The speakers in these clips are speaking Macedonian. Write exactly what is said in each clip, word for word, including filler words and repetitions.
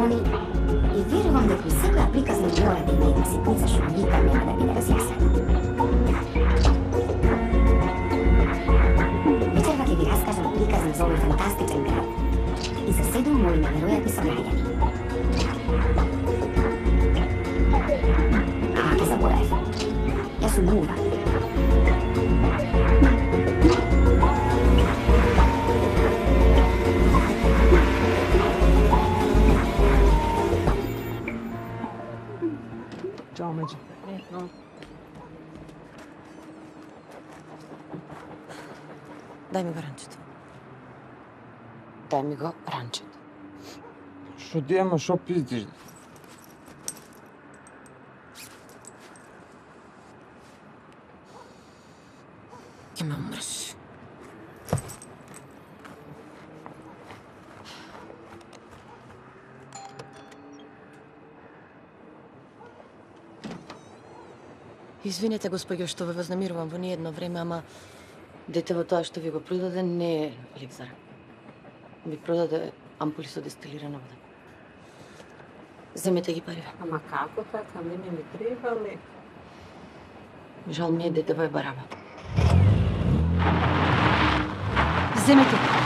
они и верувам дека и секоја приказна мора да има една ситница што никад нема да биде разјаснена. Вечерва ќе ви раскажам приказна за овој фантастичен град и за седум мои неверојатни сограѓани. А, ќе заборавив. Јас сум Мува. Чао, Меđи. Дај ми го ранчето. Дај ми го ранчето. Што ти ема, шо пиздиш? Ке ме умреш. Извинете, господјо, што ве вознемирувам во ниедно време, ама детево тоа што ви го продаде не е ликзар. Ви продаде ампули со дестилирана вода. Земете ги париве. Ама како така? Мене ми требале. Жал ми е, детево е бараба. Земете ги.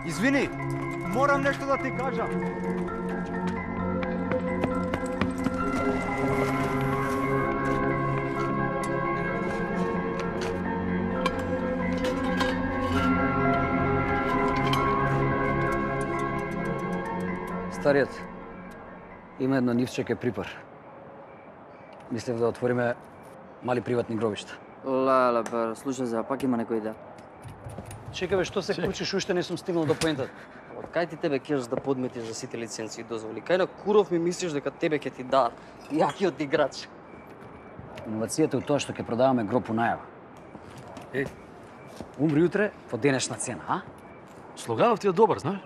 Извини, морам нешто да ти кажам. Стариот има едно нивчеке припар. Мислев да отвориме мали приватни гробишта. Леле, бе, слушај за, пак има некој идеја. Чекаве, што се кручиш, уште не сум стигнал до поентата. Од кај ти тебе кеш да подметиш за сите лиценци и дозволи? Кај на куров ми мислиш дека тебе ќе ти дадат јакиот играч? Иновацијата е тоа што ќе продаваме гроб по најава. Е, умри утре по денешна цена, а? Слоганов ти е добар, знаеш?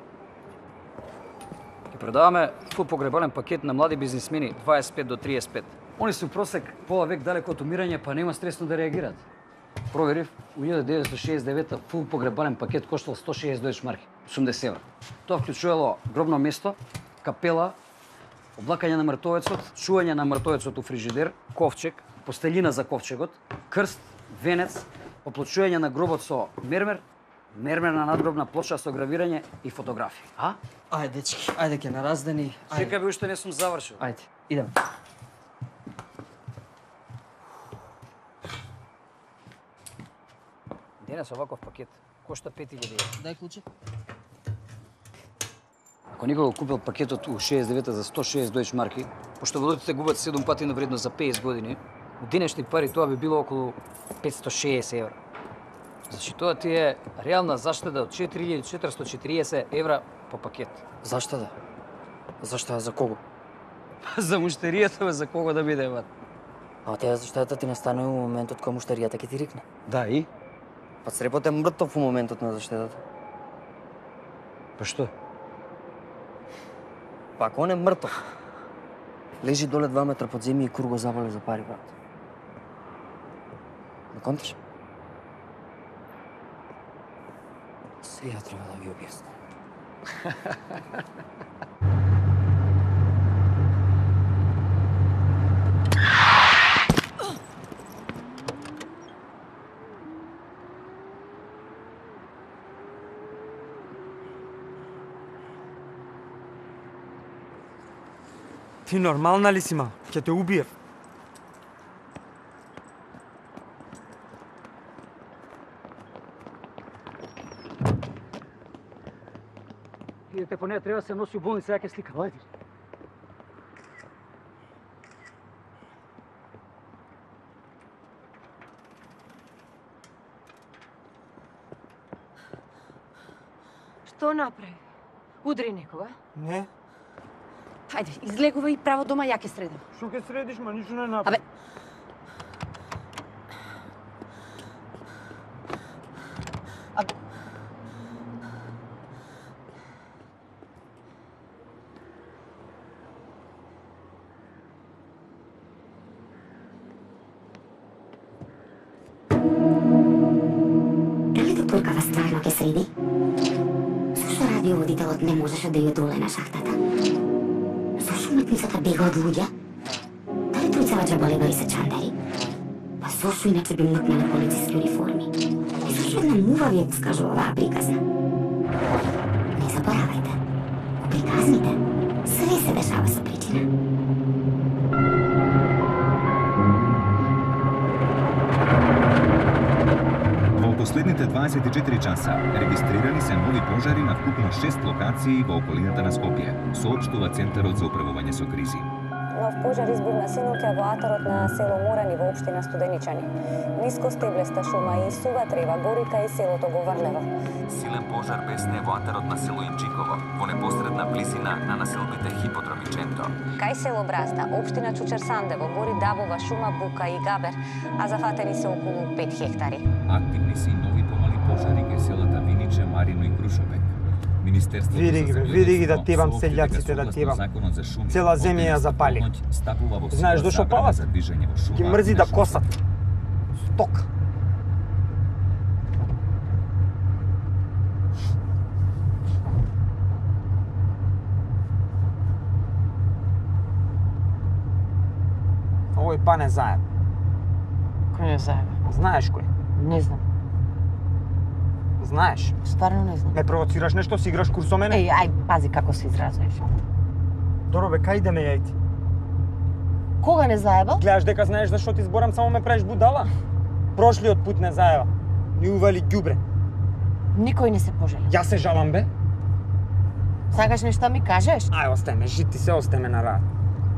Ќе продаваме фул погребален пакет на млади бизнисмени дваесет и пет до триесет и пет. Они се у просек пола век далеко од умирање, па нема стресно да реагираат. Проверив, у илјада деветстотини шеесет и девета фул погребален пакет коштал сто шеесет дојч марки, осумдесет евра. Тоа вклучувало гробно место, капела, облакање на мртовецот, чување на мртовецот у фрижидер, ковчег, постелина за ковчегот, крст, венец, оплочување на гробот со мермер, мермерна надгробна плоча со гравирање и фотографии. А? Ајде, дечки, ајде ќе на раздени. Чекај бе, уште не сум завршил. Ајде, идеме. Денес оваков пакет кошта пет илјади евра. Дај клуче. Ако никога го купил пакетот у шеесет и девета за сто шеесет дојч марки, пошто валутите губат седум пати на вредност за петдесет години, у денешни пари тоа би било околу петстотини и шеесет евра. Значи тоа ти е реална заштеда од четири илјади четиристотини и четириесет евра по пакет. Заштеда? Заштеда за кого? За муштеријата, бе, за кого да биде, бат? А таа заштедата ти настанува во моментот кога муштеријата ќе ти рикне. Да, и? Па срепот е мртов во моментот на заштедата. Па што? Па ако он е мртов, лежи доле два метра под земја и кур го заболе за пари, брат. Не конташ? Сега треба да ви објаснам. Ти нормална ли си, ма? Ќе те убиев. Идете по нея, треба да се носи у болница, ја ќе слика. Ајде. Што направи? Удри некога? Не. Хајде, излегува и право дома, ја ќе средам. Што ќе средиш, ма ништо не направи. Абе, Абе. Дали докторкава стварно ќе среди? Зашто радиоводителот не можеше да ја доле на шахтата? Зашто уметницата бега од луѓе? Дали тројцава џаболегари се чандари? Па зашто иначе би мукнале полициски униформи? И зашто една мува ви ја скажува оваа приказна? Не заборавајте, у приказните све се дешава со причина. Во последните дваесет и четири часа регистрирани се нови пожари на вкупно шест локации во околината на Скопје, соопштува Центарот за управување со кризи. Нов пожар избивна синоќа во атарот на село Мурани во општина Студеничани. Ниско стеблеста шума и сува трева гори кај селото Говорлево. Силен пожар бесне во атарот на село Имчиково, во непосредна близина на населбите Хиподром и Ченто. Кај село Бразда, општина Чучер-Сандево, гори давова шума, бука и габер, а зафатени се околу пет хектари. Активни се и нови помали пожари кај селата Виниче, Марино и Крушовек. Министерството Види ги, види ги да тебам селјаците, да тебам. Цела земја ја запали. Знаеш дошо палат? Ги мрзи да косат. Сток. Овој па не заеб. Кој не заеб? Знаеш кој? Не знам. Знаеш? Стварно не знам. Ме провоцираш нешто, си играш курс со мене? Еј, ај, пази како се изразуваш. Доро бе, кај идеме јајти? Кога не заебал? Гледаш дека знаеш зашто ти зборам, само ме правиш будала? Прошлиот пут не заеба. Ни ували ѓубре. Никој не се пожали. Јас се жалам бе. Сакаш нешто ми кажеш? Ај, остај ме, жити се, остај ме на рад.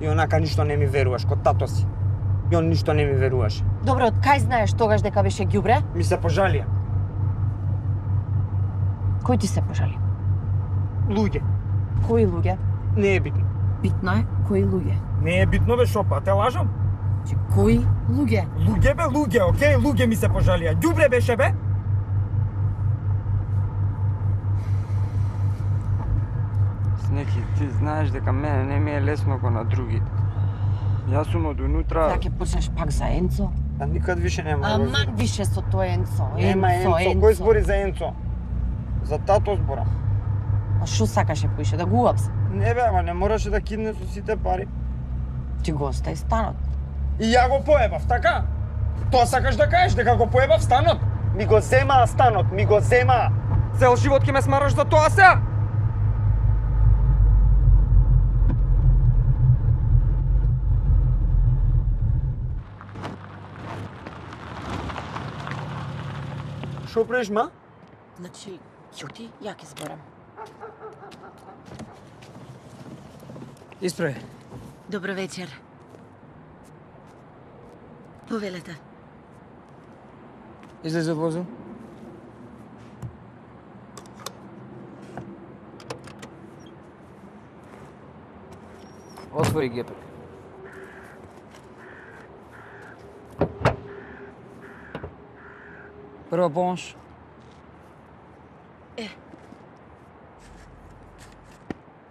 И онака ништо не ми веруваш, кod тато си. И он ништо не ми веруваше. Добро, од кај знаеш тогаш дека беше ѓубре? Ми се пожалија. Кој ти се пожали? Луѓе. Кои луѓе? Не е битно. Битно е кои луѓе. Не е битно бе, шо па, те лажам? Че кои луѓе? Луѓе бе, луѓе, окей, луѓе ми се пожалија. Ѓубре беше бе? Снеки, ти знаеш дека мене не ми е лесно ко на другите. Јас сум од унутра... Ја ќе почнеш пак за Енцо? А никад више нема. Аман више со тој Енцо. Нема Енцо, Енцо, кој збори за Енцо? За тато зборам. А шо сакаше поише, да го уапсе? Не бе, ама не мораше да кидне со сите пари. Ти го остави станот. И ја го поебав, така? Тоа сакаш да кажеш, дека го поебав станот? Ми го земаа станот, ми го земаа. Цел живот ќе ме смараш за тоа сега? Шо правиш, ма? Значи, ќути, ја ќе зборам. Исправи. Добро вечер. Повелете. Излези од возил. Отвори гепек. Прва помош. Е.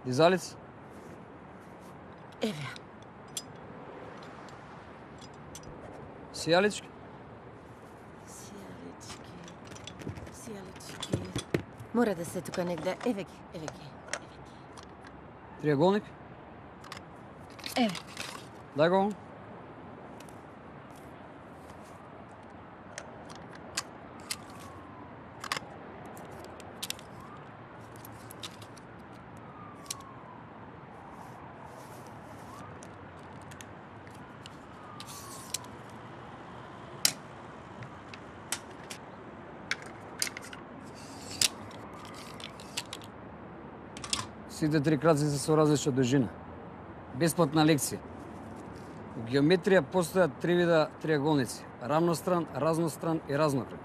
Дизалец. Еве. Сијалички. Сијалички. Сијалички. Мора да се тука негде. Еве ги, еве ги. Триаголник. Еве. Дај го. Сите три краци се со различна дужина. Бесплатна лекција. У геометрија постојат три вида триаголници. Рамностран, разностран и разнокръг.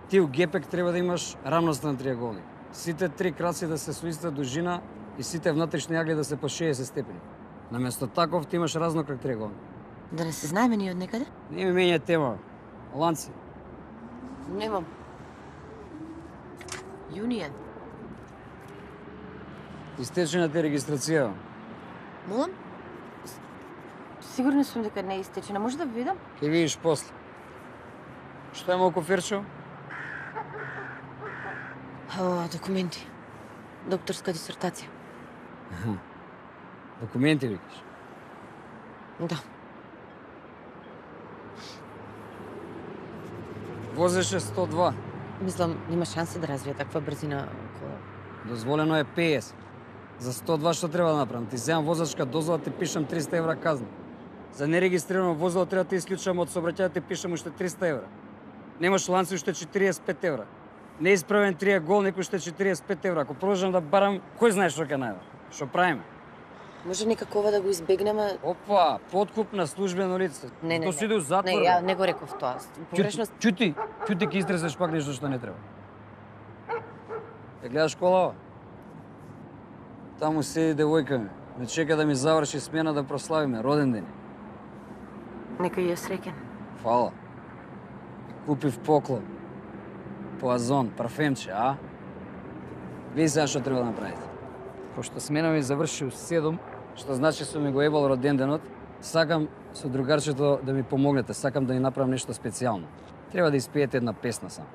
Ти у гепек треба да имаш рамностран триаголник. Сите три краци да се со иста дужина и сите внатрешни агли да се по шеесет степени. Наместо таков ти имаш разнокръг триаголник. Да не се знаеме ни од некаде? Не ми менја тема. Ланци. Немам. Јунија. Истечена ти регистрација. Молам? Сигурна сум дека не е истечена. Може да видам? Ке видиш после. Што има око ферчо? О, документи. Докторска дисертација. Аха. Документи викаш? Да. Возеше сто два. Мислам, нема шанса да развие таква брзина кола. Дозволено е петдесет. За сто два што треба да направам? Ти земам возачка дозола, ти пишам триста евра казна. За нерегистрирано возило треба да исклучам од сообраќајот, ти пишам уште триста евра. Немаш ланци уште четириесет и пет евра. Неисправен триаголник уште четириесет и пет евра. Ако продолжам да барам, кој знае што ќе најдам? Што правиме? Може никако ова да го избегнеме? Опа, подкуп на службено лице. Не, не, Тоа се иде у затвор. Не, ја не го реков тоа. Погрешност. Чути, чути ќе истресеш пак нешто што не треба. Ја гледаш колава? Таму седи девојка ми. Ме чека да ми заврши смена да прославиме роден ден. Нека ја среќен. Фала. Купив поклон. Поазон, парфемче, а? Види сега што треба да направите. Пошто смена ми заврши у седум, што значи сум ми го ебал роден денот, сакам со другарчето да ми помогнете, сакам да ни направам нешто специјално. Треба да испеете една песна сам.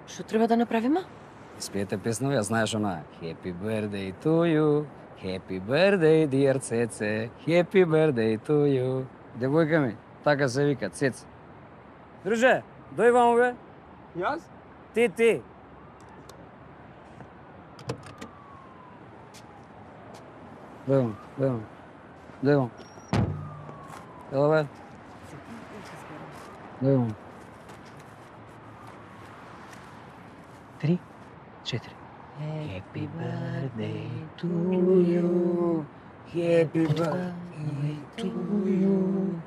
Што треба да направиме? Испеете песна, ја знаеш она. Happy birthday to you, happy birthday dear Цеце, happy birthday to you. Девојка ми, така се вика, Цеце. Друже, дој вамо бе. Јас? Ти, ти. Дој вамо, дој вамо. Дој вамо. Ела бе. Дој вамо. Три, четири. Happy birthday to you. Happy birthday to you.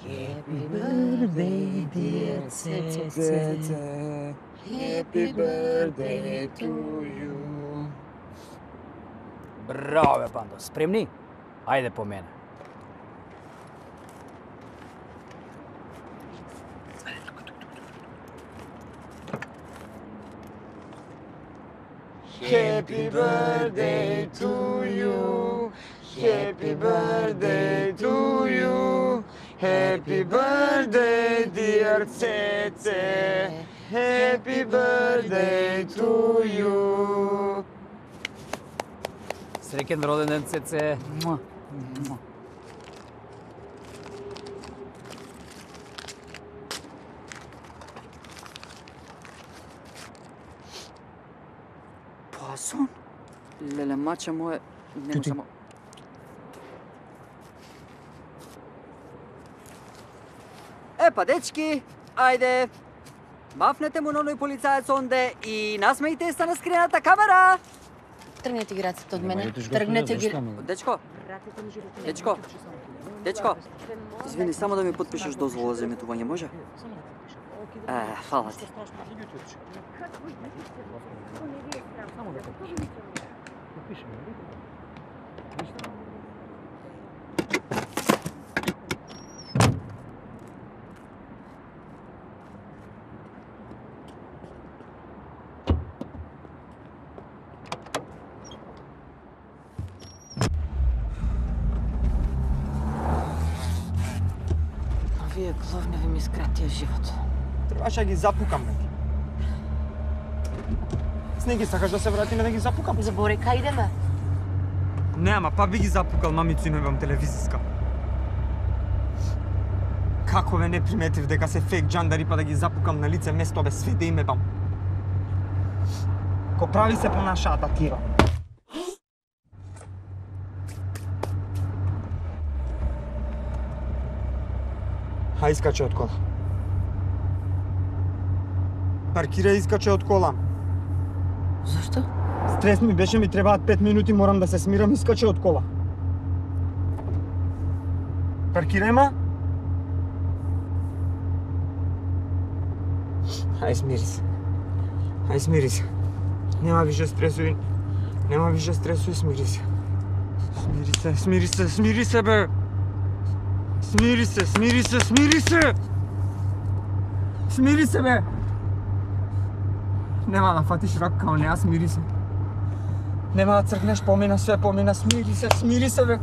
Happy birthday dear Цеце. Happy birthday to you. Браво бе, Пандо. Спремни? Ајде по мене. Happy birthday to you. Happy birthday to you. Happy birthday dear Цеце. Happy birthday to you. Среќен роден ден, Цеце. Поазон? Леле, мача моје, нема само... Епа, дечки, ајде. Мафнете му на оној полицаец онде и насмејте се на скрината камера. Тргнете ги рацете од мене. Тргнете ги. Дечко. Дечко. Дечко. Извини, само да ми потпишеш дозвола за еметување, може? Е, фала ти. Овие главнови ми скратија живот. Требаше да ги запукам, бе. Снеги, сакаш да се вратиме да ги запукам? Забори, кај идеме? Не, ама па би ги запукал, мамицу, имам телевизиска. Како бе не приметив дека се фейк джандари па да ги запукам на лице место, бе, све да им ебам. Ко прави се по нашата тира. Хај, искаче од кола. Паркира и искаче од кола. Зашто? Стрес ми беше, ми требаат пет минути, морам да се смирам и скача од кола. Паркирај ма. Ај смири се. Ај смири се. Нема више стресови. Нема више стресови, смири се. Смири се, смири се, смири се бе. Смири се, смири се, смири се. Смири се бе. Нема да фатиш рак као неа, смири се. Нема да цркнеш, помина све, помина, смири се, смири се бе.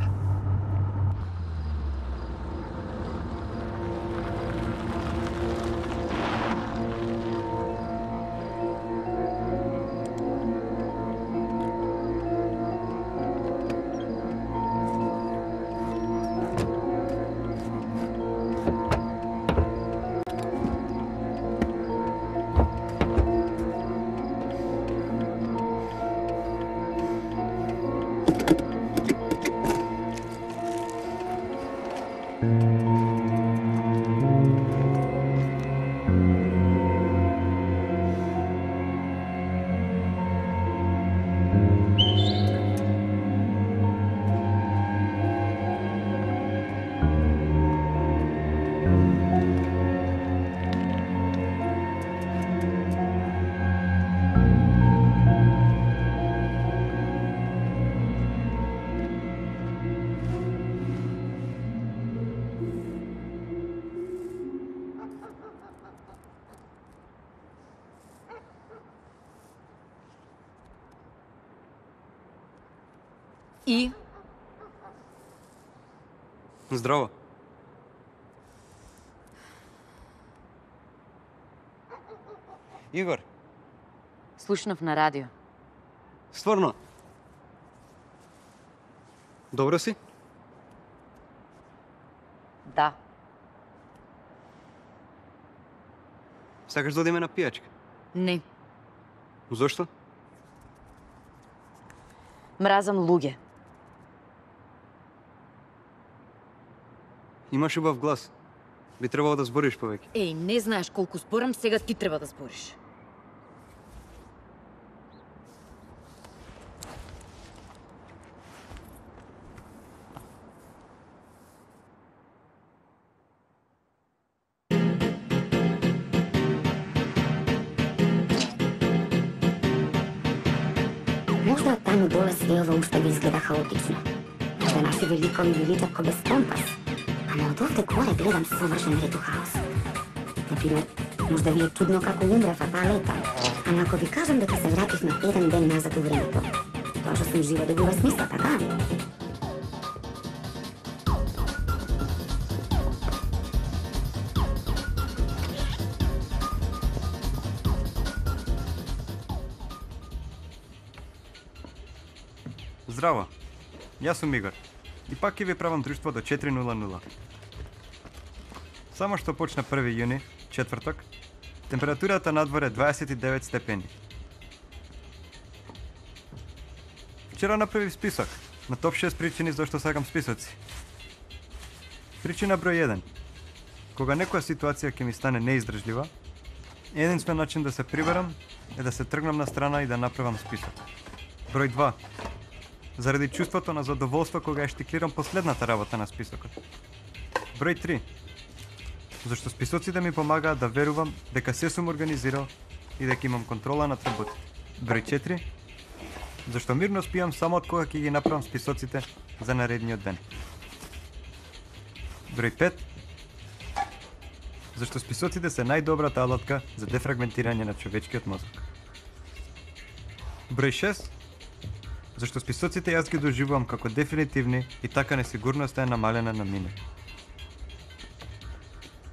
И? Здраво. Игор. Слушнав на радио. Стварно? Добро си? Да. Сакаш да одиме на пијачка? Не. Зошто? Мразам луѓе. Имаш убав глас. Би требало да збориш повеќе. Еј, не знаеш колку зборам, сега ти треба да збориш. Možda таму доле светло уште ви изгледа хаотично. Možda наши великови величат ко без компас. Ама од овде горе гледам совршен ред у хаос. Например, možda ви е чудно како умрев таа лета. Ама ако ви кажам дека се вратив на еден ден назад у времето, тоа што сум жива добива смисла, така? Здраво. Јас сум Игор. И пак ќе ви правам друштво до четири нула нула. Само што почна први јуни, четврток, температурата надвор е дваесет и девет степени. Вчера направив список на топ шест причини зашто сакам списоци. Причина број еден. Кога некоја ситуација ќе ми стане неиздржлива, единствен начин да се приберам е да се тргнам на страна и да направам список. Број два. Заради чувството на задоволство кога ја штиклирам последната работа на списокот. Број три. Зашто списоците ми помагаат да верувам дека се сум организирал и дека имам контрола над работите. Број четири. Зашто мирно спијам само од кога ќе ги направам списоците за наредниот ден. Број пет. Зашто списоците се најдобрата алатка за дефрагментирање на човечкиот мозок. Број шест. Зашто списоците јас ги доживувам како дефинитивни и така несигурноста е намалена на минут.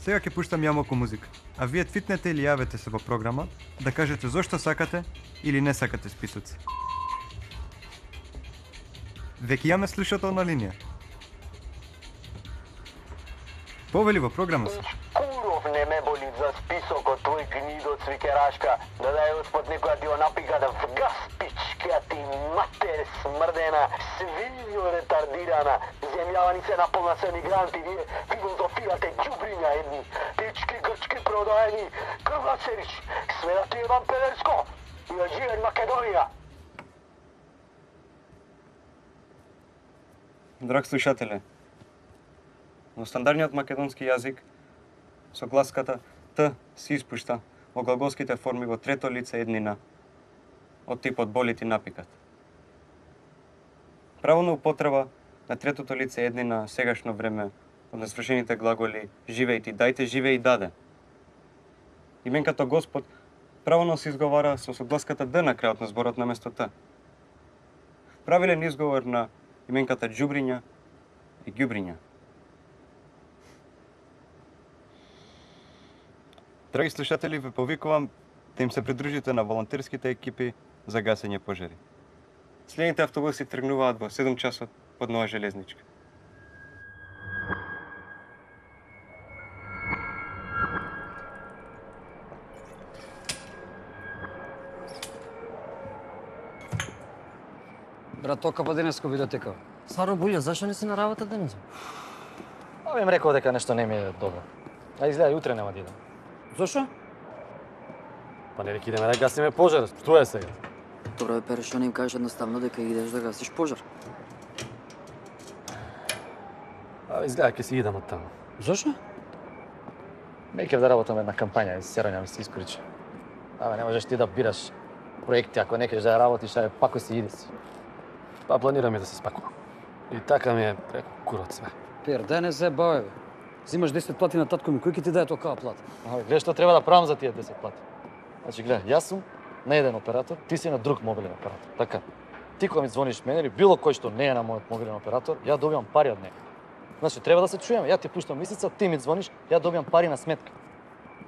Сега ќе пуштам јамоку музика, а вие твитнете или јавете се во програма да кажете зошто сакате или не сакате списоци. Веќе имаме слушател на линија. Повели во програма се. Куров не ме боли за списокот твој гнидо цвикерашка, да дај Господ некоја ти го напика да вгас пичкија ти матер смрдена, свинјо ретардирана, земјава ни се наполна се мигранти, вие филозофирате ѓубриња едни, пички грчки продаени, крвацерич, све да ти е вампелерско, и да живе Македонија. Драг слушателе, во стандардниот македонски јазик со гласката Т се испушта во глаголските форми во трето лице еднина од типот боли ти напикат. Правилна употреба на третото лице еднина сегашно време од несвршените глаголи живеј ти, дајте, живеј и даде. Именката Господ правилно се изговара со согласката Д на крајот на зборот на место Т. Правилен изговор на именката џубриња и ѓубриња. Драги слушатели, ве повикувам да им се придружите на волонтерските екипи за гасење пожари. Следните автобуси тргнуваат во седум часот под Нова железничка. Брат, тока па денеско библиотека. Стварно, Булјо, зашо не си на работа денес? Абе им рекол дека нешто не ми е добро. А изгледа и утре нема да идам. Зошо? Па не рек идеме да гасиме пожар. Што е сега? Добро, бе, Пере, што не им кажеш едноставно дека идеш да гасиш пожар? А изгледа ќе си идам од таму. Зошо? Меќе да работам една кампања и серања ми се искоричи. Абе, не можеш ти да бираш проекти, ако не кажеш да ја работиш, а пако си иди си. Па планирам и да се спакувам. И така ми е преку курот све. Пер, дај не се баве, бе. Зимаш десет плати на татко ми, кој ќе ти даде токава плата? Абе, гледа што треба да правам за тие десет плати. Значи, гледа, јас сум на еден оператор, ти си на друг мобилен оператор. Така. Ти кога ми звониш мене или било кој што не е на мојот мобилен оператор, ја добивам пари од него. Значи, треба да се чуеме. Ја ти пуштам мисица, ти ми звониш, ја добивам пари на сметка.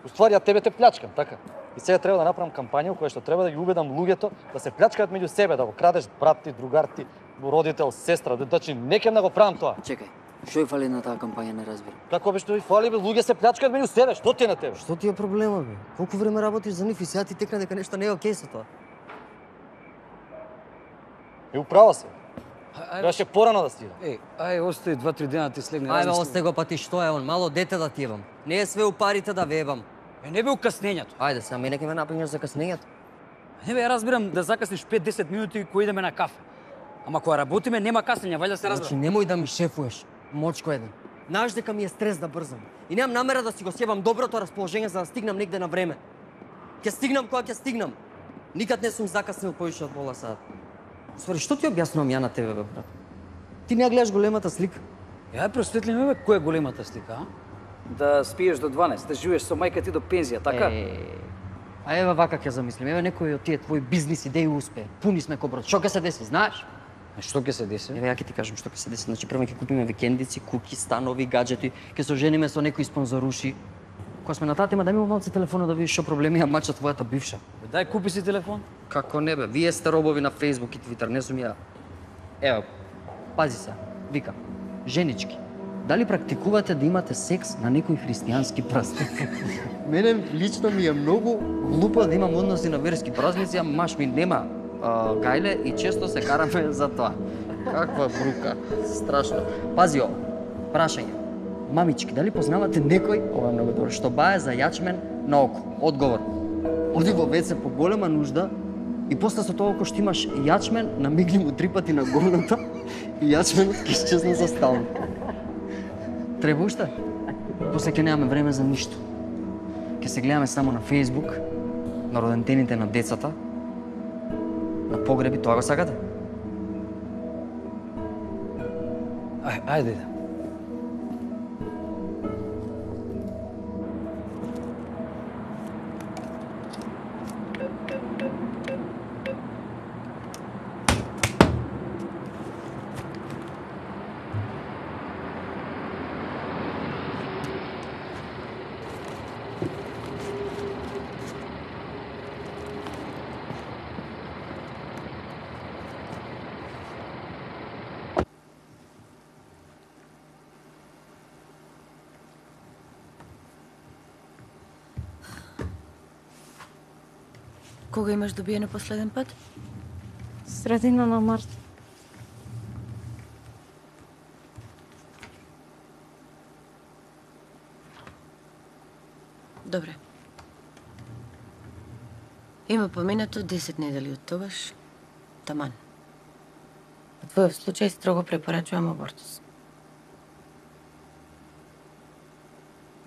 Уствари, ја тебе те плячкам, така. И сега треба да направам кампања во која што треба да ги убедам луѓето да се плячкаат меѓу себе, да го крадеш брат ти, другар ти, родител, сестра, значи не ќе да го правам тоа. Чекај, што ја фали на таа кампања, не разбирам. Како бе што ви фали, бе, луѓе се плячкаат меѓу себе, што ти е на тебе? Што ти е проблема, бе? Колку време работиш за нив и сега ти текна дека нешто не е окей со тоа? И управа се. Требаше порано да стигам. Еј, ај, остави два-три дена ти слегне. Ајде, остај го, па ти што е он, мало дете да ти ебам. Не е све у парите да вебам. Е, не бе у каснењето. Ајде, сега мене ќе ме напињаш за каснењето. Не бе, ја разбирам да закасниш пет-десет минути кој идеме на кафе. Ама кога работиме нема каснење, вајде се разбира. Значи немој да ми шефуеш, мочко еден. Знаеш дека ми е стрес да брзам. И немам намера да си го сјебам доброто расположение за да стигнам негде на време. Ќе стигнам кога ќе стигнам. Никад не сум закаснил повише од пола сат. Свари, што ти објаснувам ја на тебе, бе, брат? Ти не гледаш големата слика. Ја просветли ме, бе, која е големата слика, а? Да спиеш до дванаесет, да живееш со мајка ти до пензија, така? Е, а еве вака ќе замислим. Еве некој од тие твои бизнис идеи успее. Пуни сме ко брод. Што ќе се деси, знаеш? Е, што ќе се деси? Еве ја ќе ти кажам што ќе се деси. Значи прво ќе купиме викендици, куки, станови, гаджети, ќе се ожениме со некој спонзоруши. Кога сме на таа тема, дај ми малце телефона да видиш што проблеми ја мача твојата бивша. Дај купи си телефон. Како не бе, вие сте робови на Facebook и Twitter, не сум ја. Ево, пази се, викам, женички, дали практикувате да имате секс на некој христијански празник? Мене лично ми е многу глупо да имам односи на верски празници, а маш ми нема а, гајле и често се караме за тоа. Каква брука, страшно. Пази ово, прашање. Мамички, дали познавате некој, ова е многу добро, што бае за јачмен на око? Одговор. Оди во веце по голема нужда и после со тоа ако што имаш јачмен, намигни му три пати на голната и јачменот ќе исчезне за стално. Треба уште? После ќе немаме време за ништо. Ќе се гледаме само на Facebook, на родентените на децата, на погреби, тоа го сакате? Ај, ајде. Кога имаш добиено последен пат? Средина на март. Добре. Има поминато десет недели од тогаш. Таман. твојот случај строго препорачувам абортус.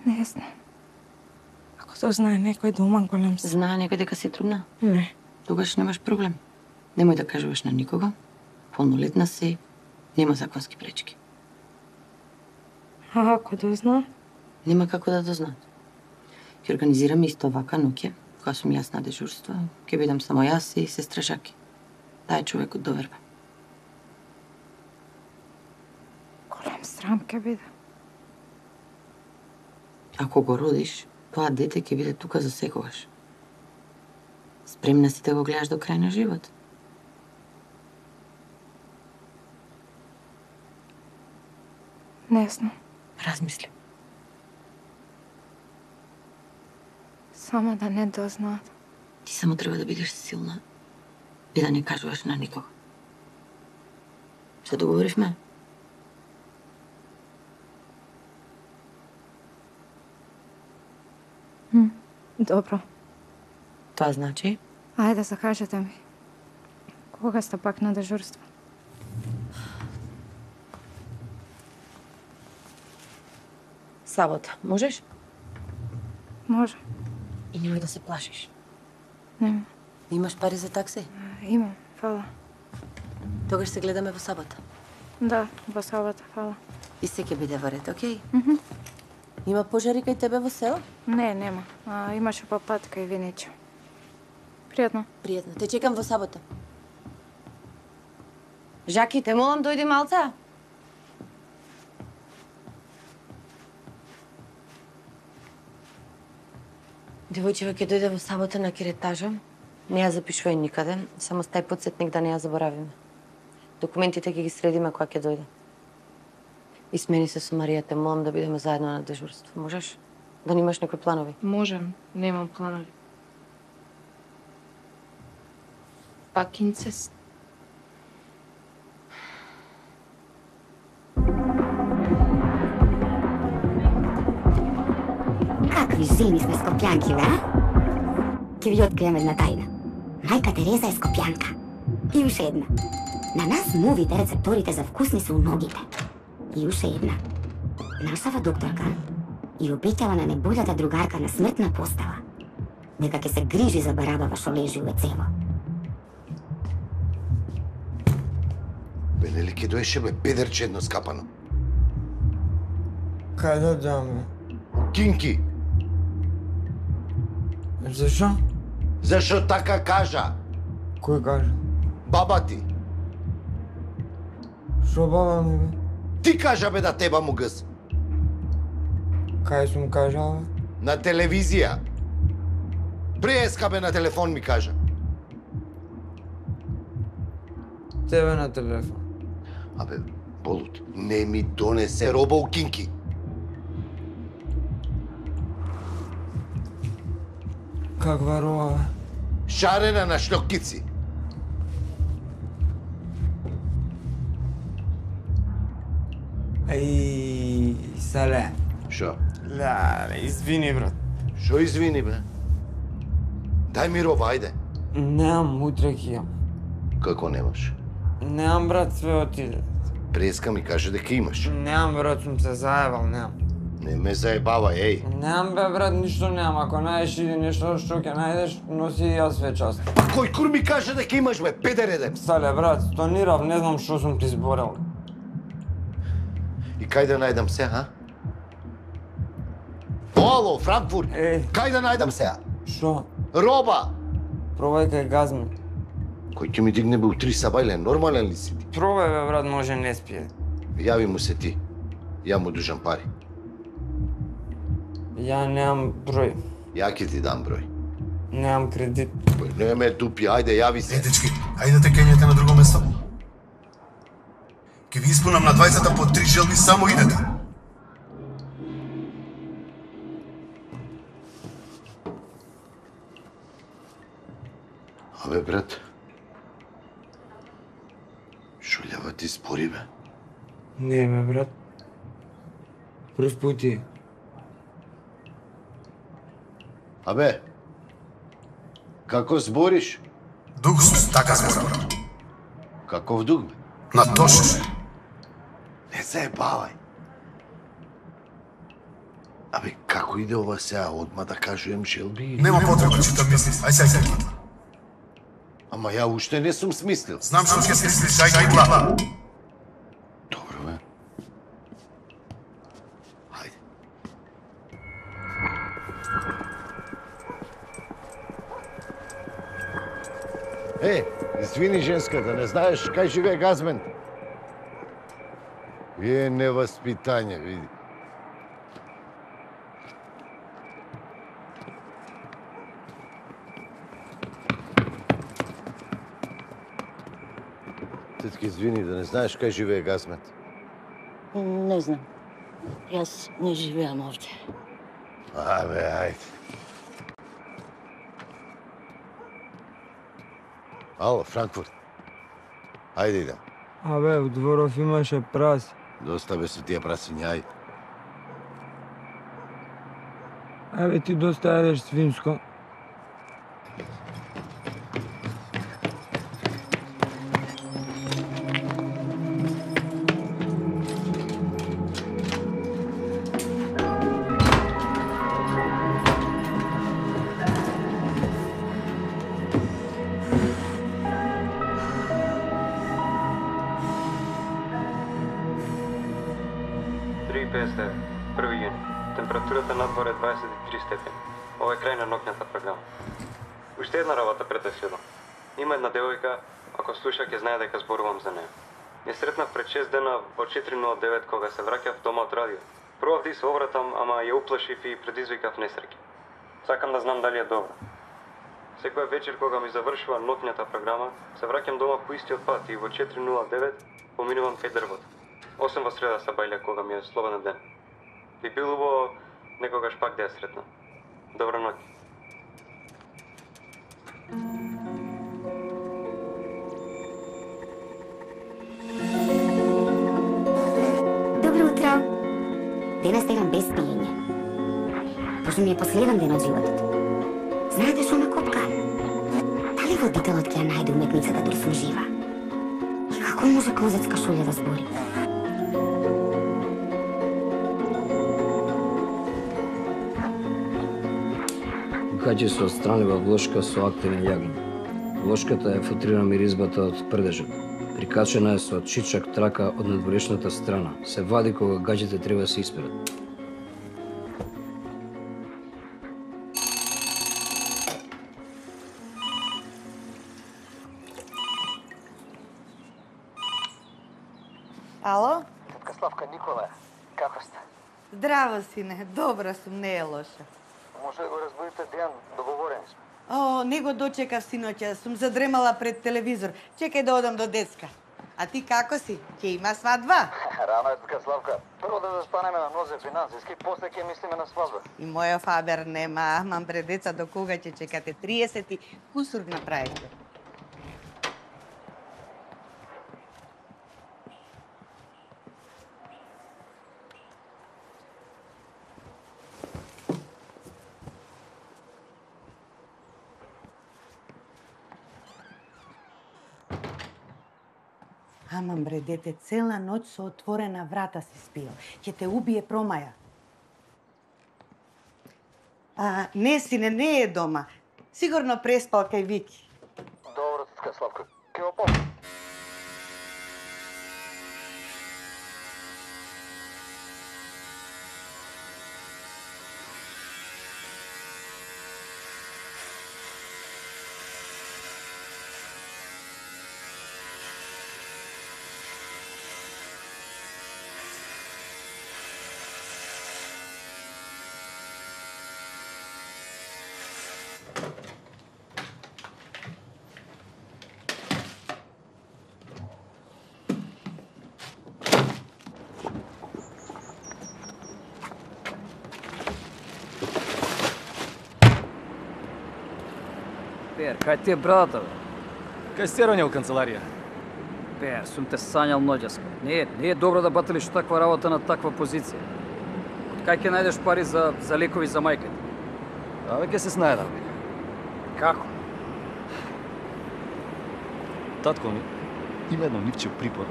Не знам. Ако тоа знае некој дома голем се. Знае некој дека си трудна? Не. Тогаш немаш проблем. Немој да кажуваш на никого. Полнолетна си, нема законски пречки. А ако дозна? Нема како да дознаат. Ќе организираме исто вака ноќе, кога сум јас на дежурство, ќе бидам само јас и сестра Жаки. Тај човек од доверба. Голем срам ќе биде. Ако го родиш, тоа дете ќе биде тука за секогаш. Спремна си да го гледаш до крај на живот. Не знам. Размисли. Само да не дознаат. Ти само треба да бидеш силна и да не кажуваш на никого. Се договоривме? М, добро. Тоа значи? Ајде, закажете ми. Кога сте пак на дежурство? Сабота, можеш? Може. И немој да се плашиш. Нема. Имаш пари за такси? Имам, фала. Тогаш се гледаме во сабота. Да, во сабота, фала. И се ќе биде во ред, окей? Мгм. Има пожари кај тебе во село? Не, нема. А, имаше по пат кај Виничо. Пријатно. Пријатно. Те чекам во сабота. Жаки, те молам дојди малца. Девојчева ќе дојде во сабота на керетажа. Не ја запишувај никаде, само стај подсетник да не ја заборавиме. Документите ќе ги средиме кога ќе дојде. И смени се со Марија, те молам да бидеме заедно на дежурство. Можеш? Да немаш некои планови? Можем, немам планови. Пак инцест. Какви жени сме скопјанки, да? Ќе ви открием една тајна. Мајка Тереза е скопјанка. И уште една. На нас мувите рецепторите за вкусни се у ногите. И уште една. Нашава докторка и обеќава на неболјата другарка на смртна постава дека ќе се грижи за барабава што лежи у ецево. Бе, нели ке доеше бе педерче едно скапано? Кај да даме? Кинки! Зашо? Зашо така кажа? Кој кажа? Баба ти. Шо баба ми бе? Ти кажа бе да теба му гъс. Кај сум кажал бе? На телевизија. Преска бе на телефон ми кажа. Тебе на телефон. Абе, болут, не ми донесе роба у кинки. Каква роба бе? Шарена на шлокици. Ај, сале. Шо? Леле, извини, брат. Шо извини, бе? Дај ми роба, ајде. Немам, утре ќе имам. Како немаш? Немам, брат, све отиде. Преска ми каже дека имаш. Немам, брат, сум се заебал, немам. Не ме заебавај, еј. Немам, бе, брат, ништо немам. Ако најдеш иди нешто што ќе најдеш, носи и јас све част. Па кој кур ми каже дека имаш, бе, педер еден? Сале, брат, стонирав, не знам што сум ти зборел. И кај да најдам се, а? Ало, Франкфурт! Е. Кај да најдам се? Шо? Роба! Пробај кај Газми. Кој ќе ми дигне бе у три сабајле, нормален ли си ти? Пробај бе, брат, може не спие. Јави му се ти. Ја му дужам пари. Ја немам број. Ја ќе ти дам број. Немам кредит. Не ме тупи, ајде, јави се. Е, дечки, ајде те кењете на друго место. Ке ви испунам на двајцата по три желби, само идете. Абе, брат. Шуљава ти спори, бе. Не, бе, брат. Прв пут е. Абе, како збориш? Дух сус, така зборам. Каков дух, бе? Натоше. Не се бавај. Абе, како иде ова сега? Одма да кажуjem Желби? Нема потреба читам мисли. Ај сега сега. Ама ја уште не сум смислил. Знам што ќе смислиш, ај ги гла. Добро, бе. Хајде. Е, извини женска, да не знаеш кај живее Газмен? Е, невоспитање, види. Тетки, извини, да не знаеш кај живее Газмет? Не знам. Јас не живеам овде. Абе, ајде. Ало, Франкфурт. Ајде идем. Абе, у дворов имаше праси. Доста бе со тие прасиња, ајде. Абе, ти доста јадеш свинско. први јуни. Температурата надвор е дваесет и три степени. Ова е крај на ноќната програма. Уште една работа пред да следам. Има една девојка, ако слуша ќе знае дека зборувам за неја. Ја сретнав пред шест дена во четири нула девет кога се враќав дома од радио. Пробав да се обратам, ама ја уплашив и предизвикав несреќа. Сакам да знам дали е добра. Секоја вечер кога ми завршува ноќната програма, се враќам дома по истиот пат и во четири нула девет поминувам кај дрвото. Осем во среда сабајле кога ми е слободен ден. Би било убаво некогаш пак да ја сретнам. Добра ноќ. Добро утро. Денес стегам без пиење. Пошто ми е последен ден од животот. Знаете што ме копка? Дали водителот ќе ја најде уметницата да сум жива? И како може козецка шолја да збори? Каѓе се отстранива влошка со активен јагин. Влошката е футрира миризбата од прдежот. Прикачена е со чичак трака од надворешната страна. Се вади кога гаѓите треба да се исперат. Ало? Тетка Славка, Никола, како сте? Здраво, сине, добра сум, не е лоша. Може да го разбудите Дејан, договорени сме. О, не го дочекав синоќа, сум задремала пред телевизор. Чекај да одам до детска. А ти како си? Ќе има свадба? Рано е, тетка Славка. Прво да застанеме на нозе финансиски, после ќе мислиме на свадба. И моја фабер нема, мам пред деца до кога ќе чекате? триесет и кусур направите. Амам бре, дете, цела ноќ со отворена врата си спиел. Ќе те убие промаја. А, не, сине, не е дома. Сигурно преспал кај Вики. Добро, тетка Славка. Ке го помни. Пер, кај ти е брадата, бе? Кај стероње у канцеларија. Пер, сум те сањал ноќеска. Не е, не е добро да баталиш таква работа на таква позиција. Кај ќе најдеш пари за, за лекови за мајката? Абе, ќе се снајдам. Како? Татко ми Има едно нивче припор.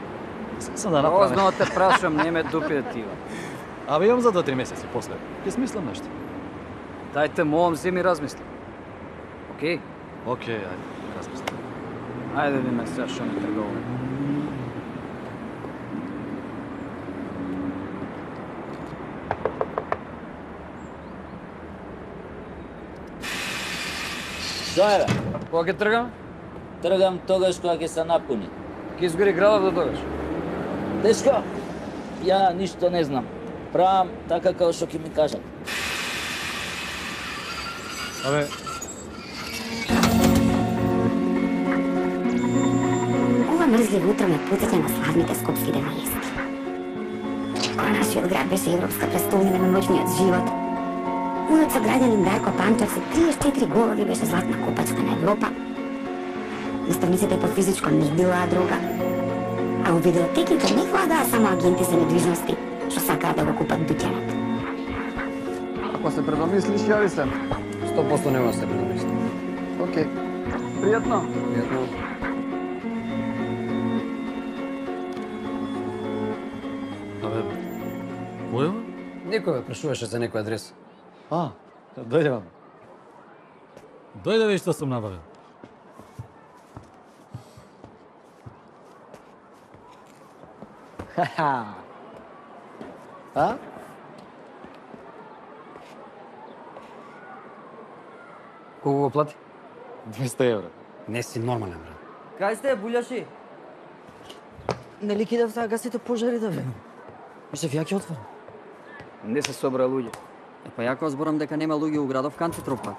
Сам да направам. Озно те прашам, не ме дупи тива. Абе, имам за два-три месеци после. Ќе смислам нешто. Дајте молам, земи размисли. Океј? Океј, ајде, размислам. Ајде ви ме сега што ме тргуваме. Што е, бе? Кога ќе тргам? Тргам тогаш кога ќе се напуни. Ќе изгори градов до тогаш. Дечко, ја ништо не знам. Правам така како што ќе ми кажат. Абе, Ова мрзливо утро ме потсеќа на славните скопски денајести. Кога нашиот град беше европска престолнина на ноќниот живот, унот со граѓанин Дарко Панчев со триесет и четири голови беше златна копачка на Европа. Наставниците по физичко не билаа друга, а у видеотеките не владаа само агенти за недвижности што сакаат да го купат дуќанот. Ако се предомислиш, јави се. сто проценти нема да се предомисли. Океј. Пријатно. Пријатно. абе, кој е? Некој ме прашуваше за некој адрес. А, дојде вам. Дојде веќе што сум набавил. Ха-ха. А? Колку го плати? двеста евра. Не си нормален, брат. Кај сте, буљаши? Нели кидав таа гасите пожари да бе? Мислев, ја ќе отворам. Не се собра луѓе. Е, па ја кога зборам дека нема луѓе у градов, кан ти тропат?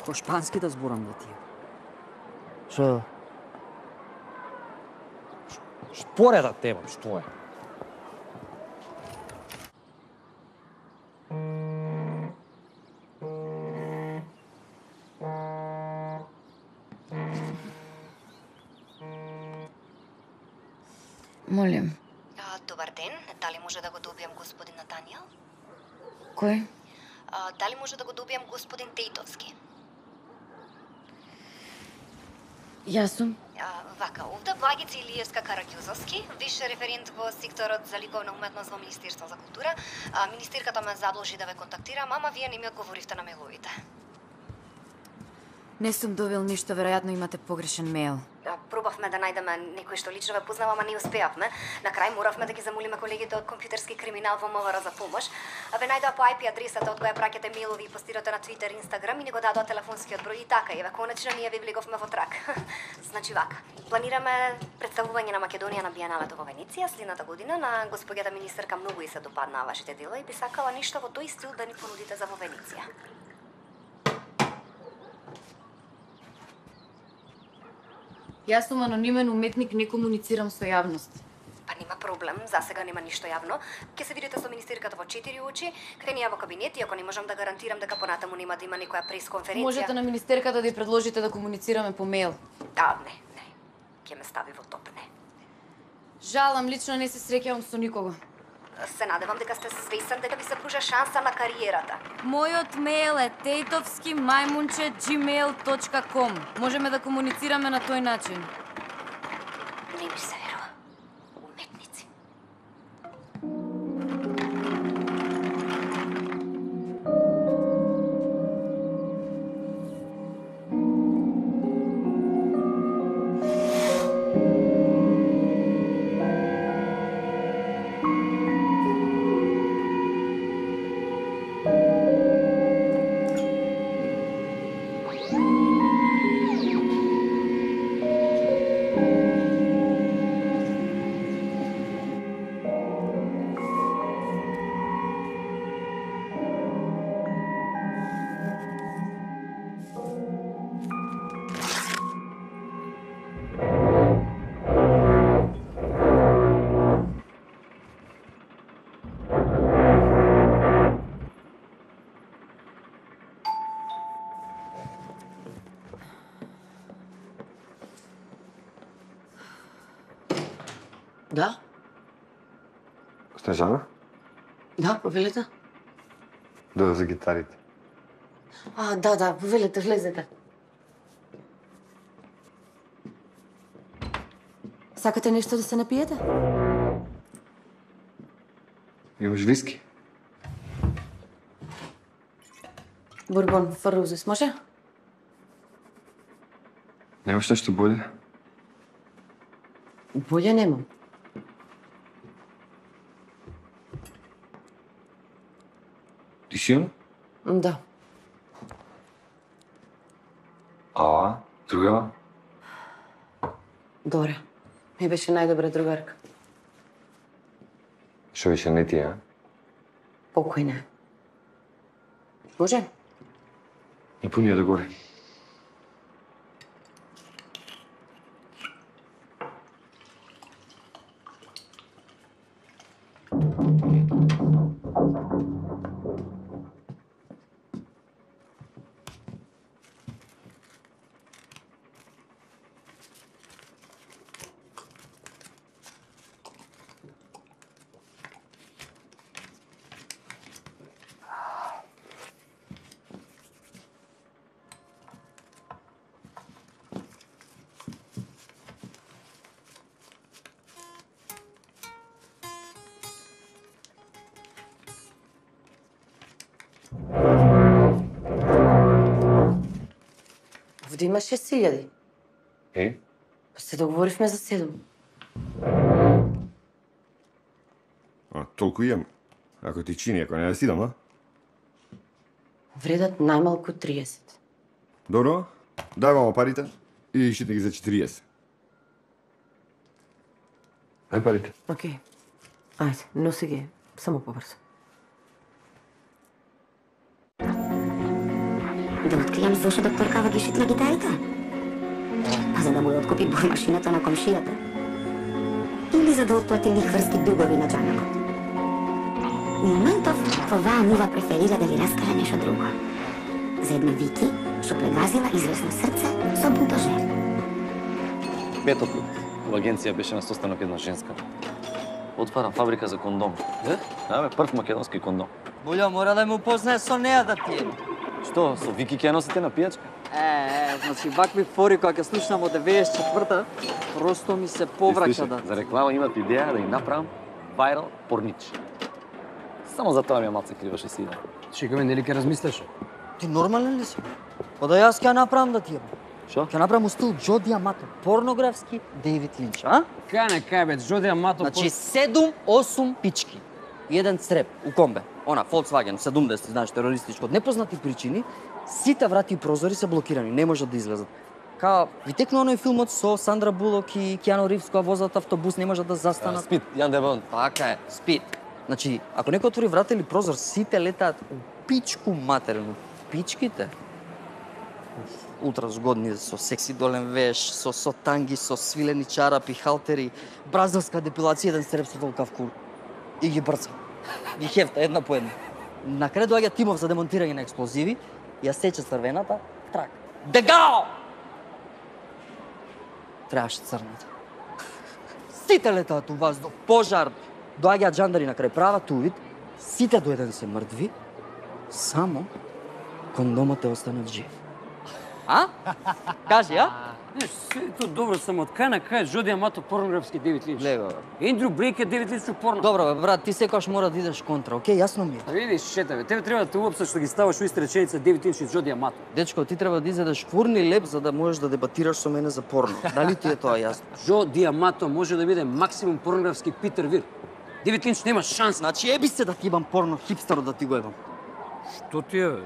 Ко шпански да зборам да тие. Шо? Шпореда тема, што е? Молим. А, добар ден, дали може да го добијам господин Натаниел? Кој? А, дали може да го добијам господин Тейтовски? Јас сум. А, вака, овде Благица Илиевска Караѓузовски, више референт во секторот за ликовна уметност во Министерство за култура. А, министерката ме задолжи да ве контактирам, ама вие не ми одговоривте на мејловите. Не сум добил ништо, веројатно имате погрешен мејл. Пробавме да најдеме некој што лично ве познава, ама не успеавме. На крај моравме да ги замолиме колегите од компјутерски криминал во МВР за помош. А ве најдоа по ај пи адресата од која праќате мејлови и постирате на Твитер и Инстаграм и ни го дадоа телефонскиот број и така, еве конечно ние ви влеговме во трак. Значи вака, планираме представување на Македонија на Биеналето во Венеција следната година. На господјата министерка многу и се допаднаа вашите дела и би сакала ништо во тој стил да ни понудите за во Венеција. Јас сум анонимен уметник, не комуницирам со јавност. Па нема проблем, за сега нема ништо јавно. Ќе се видите со министерката во четири очи, крени ја во кабинет, иако не можам да гарантирам дека понатаму нема да има некоја пресконференција. Можете на министерката да ја предложите да комуницираме по мејл. Да, не, не. Ќе ме стави во топ, не. Жалам, лично не се среќавам со никого. Се надевам дека сте свесен дека ви се пружа шанса на кариерата. Мојот мејл е тейтовски мајмунче gmail точка com. Можеме да комуницираме на тој начин. Не ми се верува. Уметници. Да? Снежана? Да, повелете. Да, за гитарите. А, да, да, повелете, влезете. Сакате нешто да се напиете? Имаш виски? Бурбон, фарузис, може? Немаш нешто боле? Боле немам. Ти силно? Да. А, другава? Дора. Ми беше најдобра другарка. Што беше не ти, а? Покојна. Може? И пунија да горе. Овде има шест илјади. Е? Па се договоривме за седум. А, толку имам. Ако ти чини, ако не да си дам, а? Вредат најмалку триесет. Добро, дај мамо парите и шите ги за четириесет. Ај парите. Океј. Ајде, носи ги, само побрзо. Да откријам зошто докторкава ги шитна гитарите? Па за да му ја откупи бојмашината на комшијата? Или за да отплати лихварски дугови на џанакот? У моментов, оваа мува преферира да ви раскаже нешто друго. За една Вики, што прегазила известно срце со бунтожер. Петот во агенција беше на состанок една женска. Отварам фабрика за кондом. Е? Да, бе, прв македонски кондом. Булјо, мора да му познае со неа да пие. Што, со Вики ќе носите на пијачка? Е, е, значи вакви фори која ќе слушнам од деветдесет и четврта, просто ми се повраќа да. За реклама имат идеја да им направам вајрал порнич. Само за тоа ми ја малце криваше сина. Чекаме, нели ќе размислеше? Ти нормален ли си? Па да јас ќе направам да ти е. Шо? Ќе направам у стил Џо Диамато, порнографски Дејвид Линч, а? Кај не кај бе, Џо Диамато. Значи седум осум пички. И еден цреп у комбе. Она Volkswagen седумдесет, знаеш, терористичко. Од непознати причини, сите врати и прозори се блокирани, не можат да излезат. Као, ви текна оној филмот со Сандра Булок и Киано Ривз која возат автобус, не можат да застанат. Спид, Јан Дебон. Така е, спид. Значи, ако некој отвори врата или прозор, сите летаат у пичку матерно. Пичките? Ултра згодни, со секси долен веш, со, со танги, со свилени чарапи, халтери, бразилска депилација, еден среп со толкав кур. И ги брца. Ги хефта една по една. На крај доаѓа тимов за демонтирање на експлозиви, ја сече црвената, трак. Дегао! Требаше црната. Сите летаат у воздух, пожар. Доаѓаат жандари на крај прават увид, сите до еден се мртви, само кондомот е останат жив. А? Кажи, а? Не, сето добро, само од кај на кај Џо Диамато порнографски Дејвид Линч. Лего. Ендрю Брейк е Дејвид Линч порно. Добро бе, брат, ти секогаш мора да идеш контра, окей, јасно ми е. Видиш, шета бе, тебе треба да те уопсаш што ги ставаш у иста реченица Дејвид Линч и Џо Диамато. Дечко, ти треба да изедеш фурни леп за да можеш да дебатираш со мене за порно. Дали ти е тоа јасно? Џо Диамато може да биде максимум порнографски Питер Вир. Дејвид Линч нема шанс. Значи еби се да ти имам порно хипстер да ти го ебам. Што ти е бе?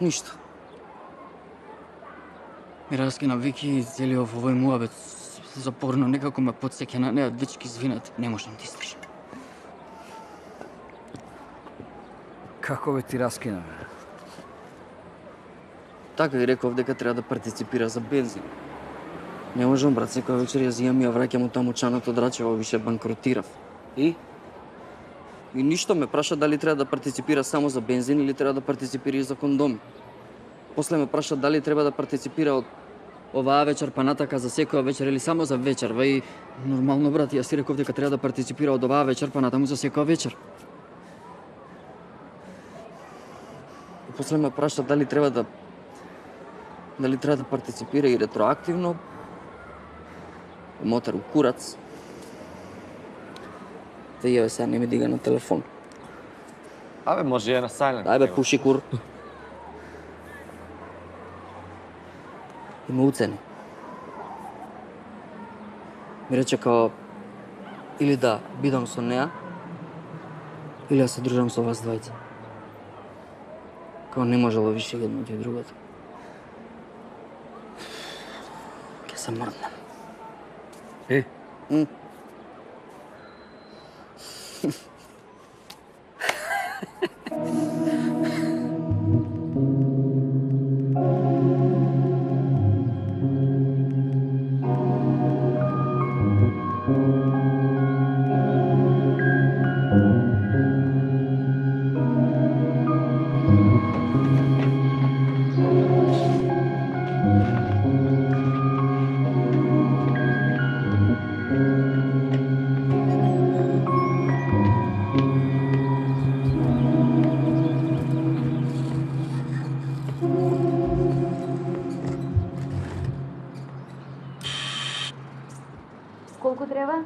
Ништо. Ми раскина Вики и целиот овој муабет за порно некако ме потсеќа на неа дечки звинат. Не можам да издржам. Како бе ти раскина бе? Така и реков дека треба да партиципира за бензин. Не можам, брат, секоја вечер ја зијам и ја враќам у таму чаното драчево, више банкротирав. И? И ништо ме праша дали треба да партиципира само за бензин или треба да партиципира и за кондоми. После ме праша дали треба да партиципира од оваа вечер па натака за секоја вечер или само за вечерва и нормално, брат, јас си реков дека треба да партиципира од оваа вечер па натаму за секоја вечер. И после ме праша дали треба да Дали треба да партиципира и ретроактивно, мотар у курац. Та ја сега не ми дига на телефон. Абе, може е на silent. Ајбе, пуши кур. И ме уцени. Ми рече као, или да бидам со неа, или да се дружам со вас двајца. Као не можело више едно и другото. Ке се мрднем. Е? М. Колку треба?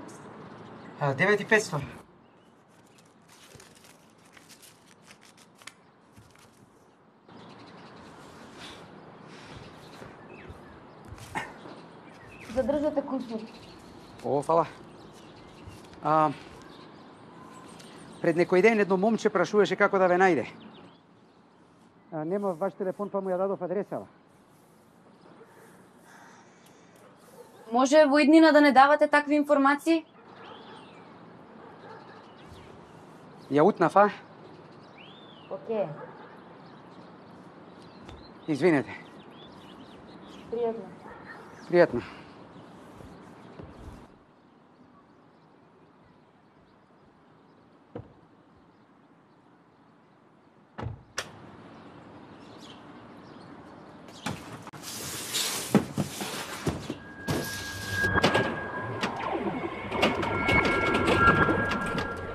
девет и петстотини. Задржате кусмот. О, фала. А, пред некој ден едно момче прашуваше како да ве најде. А, нема ваш телефон, па му ја дадов адресава. Може во иднина да не давате такви информации? Ја утнав, а? Океј. Извинете. Пријатно. Пријатно.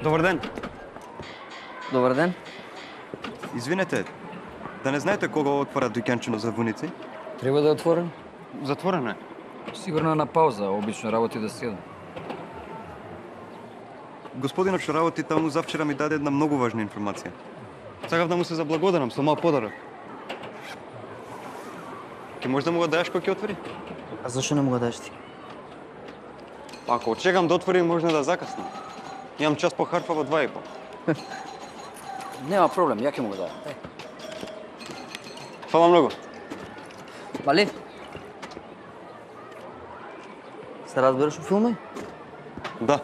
Добар ден. Добар ден. Извинете, да не знаете кога отвора дуќанчино за вуници? Треба да е отворен? Затворено е. Сигурно е на пауза, обично работи да седам. Господинот што работи таму завчера ми даде една многу важна информација. Сакав да му се заблагодарам со мал подарок. Ке можеш да му го дадеш кога ќе отвори? А зашо не му го дадеш ти? Ако очекам да отвори, можна да закаснам. Имам час по харфа во два и пол. Нема проблем, ја ќе му го дадам. Фала многу. Мали? Се разбираш у филми? Да.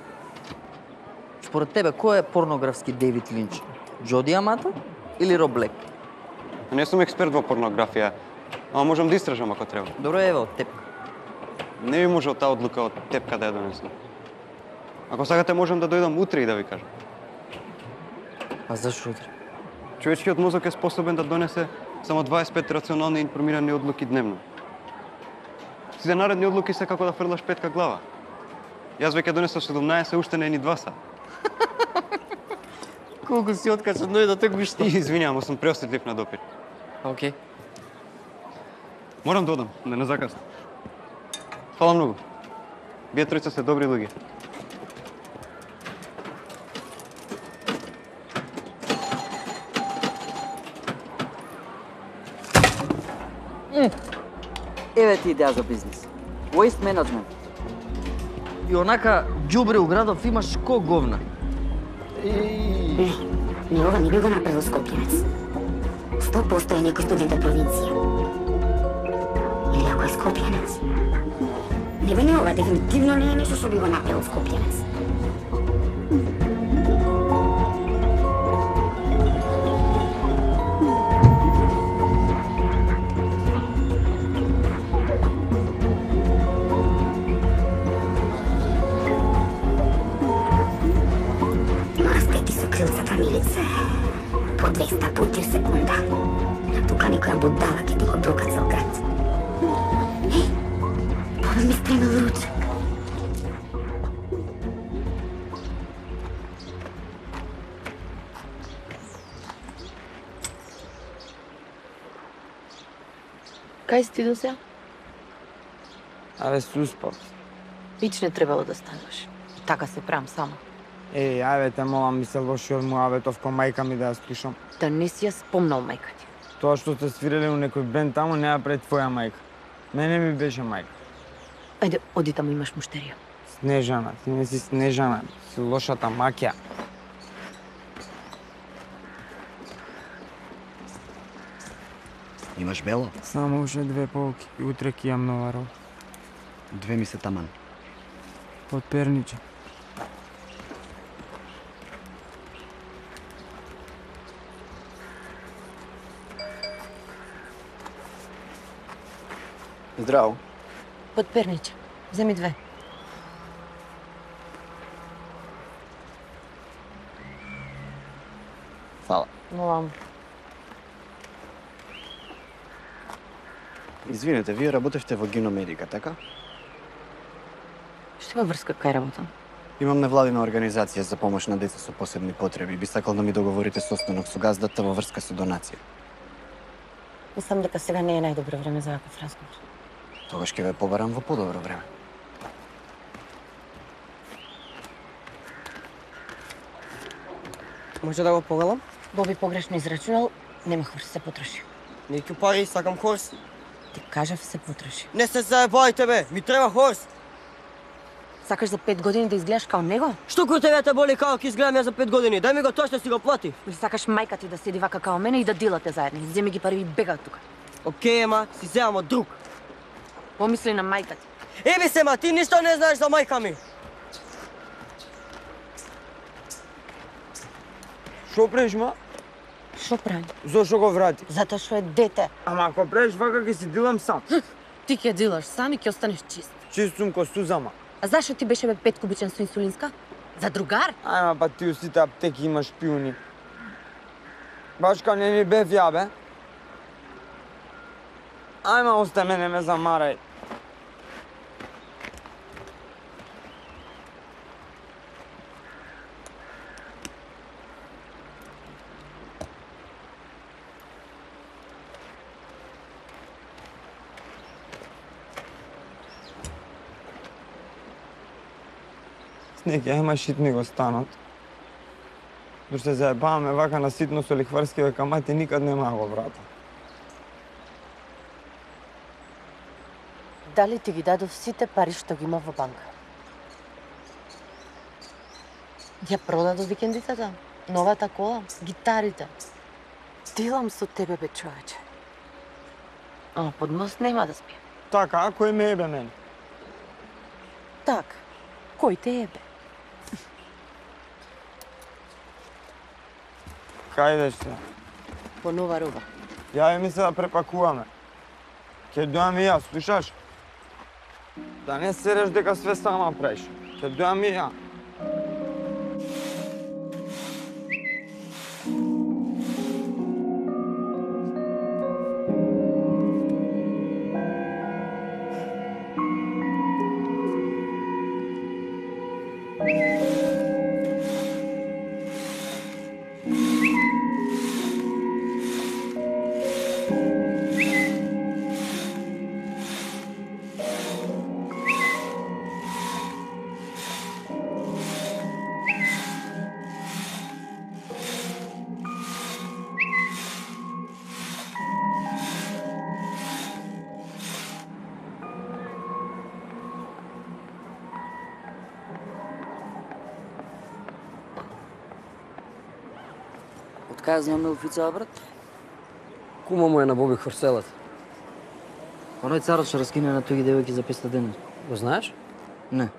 Според тебе, кој е порнографски Дейвид Линч? Джоди Амато или Роб Блек? Не сум експерт во порнографија, ама можам да истражам ако треба. Добро, еве од тепка. Не би можел таа одлука од тепка да ја донесам. Ако сакате, можам да дојдам утре и да ви кажам. А зашо утре? Човечкиот мозок е способен да донесе само дваесет и пет рационални и информирани одлуки дневно. Сите наредни одлуки се како да фрлаш петка глава. Јас веќе донесов седумнаесет, уште не е ни два сата. Колку си откачен дојде те гушта. Извинјавам, сум преосетлив на допир. Океј. Морам да одам, да не закаснам. Фала многу. Вие тројца сте добри луѓе. Еве ти идеја за бизнис. Waste management. И онака џубре у градов имаш ко говна. Не, не ова не би го направил Скопјанец. сто проценти е некој студент од провинција. Или ако е Скопјанец. Не бе не ова, дефинитивно не е нешто што би го направил Скопјанец. По двеста пути секунда. А тука некоја будала ќе ти го брока цел град. Еј, Бога ми спремил ручек. Кај си ти до сега? Абе, се успав. Пич не требало да станеш. Така се правам само. Еј, ајде те молам, ми се лоши од муаветов кон мајка ми да ја слушам. Да не си ја спомнал мајка ти. Тоа што сте свирели у некој бенд таму не ја пред твоја мајка. Мене ми беше мајка. Ајде, оди таму, имаш муштерија. Снежана, ти не си Снежана, си лошата маќа. Имаш бело? Само уште две полки и утре ќе јам нова роба. Две ми се таман. Од Перниче. Здраво. Од Перниче. Земи две. Фала. Молам. Извинете, вие работевте во Гиномедика, така? Што има врска кај работам? Имам невладина организација за помош на деца со посебни потреби. Би сакал да ми договорите состанок со газдата во врска со донација. Мислам дека сега не е најдобро време за ваков разговор. Тогаш ќе ве побарам во подобро време. Може да го погледам? Боби погрешно израчунал, нема хорс се потроши. Неќу пари, сакам хорс. Ти кажав се потроши. Не се заебајте бе, ми треба хорс. Сакаш за пет години да изгледаш као него? Што кој тебе те боли како ќе изгледам ја за пет години? Дај ми го тоа што си го плати. Или сакаш мајка ти да седи вака као мене и да дилате заедно. Земи ги пари и бега од тука. Океј, ема, си земам од друг. Помисли на мајка ти. Еби се, ма, ти ништо не знаеш за мајка ми. Шо правиш, ма? Шо правим? Зошто го врати? Затоа што е дете. Ама ако правиш вака ќе си дилам сам. Ти ќе дилаш сам и ќе останеш чист. Чист сум ко сузама. А зашо ти беше бе пет кубичен со инсулинска? За другар? Ајма, па ти у сите аптеки имаш шпиони. Баш као не ни бев ја, бе. Ајма, остай ме, не ме замарај. Снеги, ајма шит ми го станот. Дошто се заебаваме вака на ситно со лихварскиве камати, никад нема го врата. Дали ти ги дадов сите пари што ги има во банка? Ја продадов викендицата, новата кола, гитарите. Дилам со тебе, бе, човече. Ама под мост нема да спием. Така, а кој ме ебе мене? Така, кој те ебе? Кај идеш се? По нова роба. Јави ми се да препакуваме. Ке дојам и ја, слушаш? Да не сереш дека све сама правиш. Ке дојам и ја. Кај знам Милфица, брат? Кума му е на Боби Хорселет. Оној царот што раскине на тоги девојки за петстотини денар. Го знаеш? Не.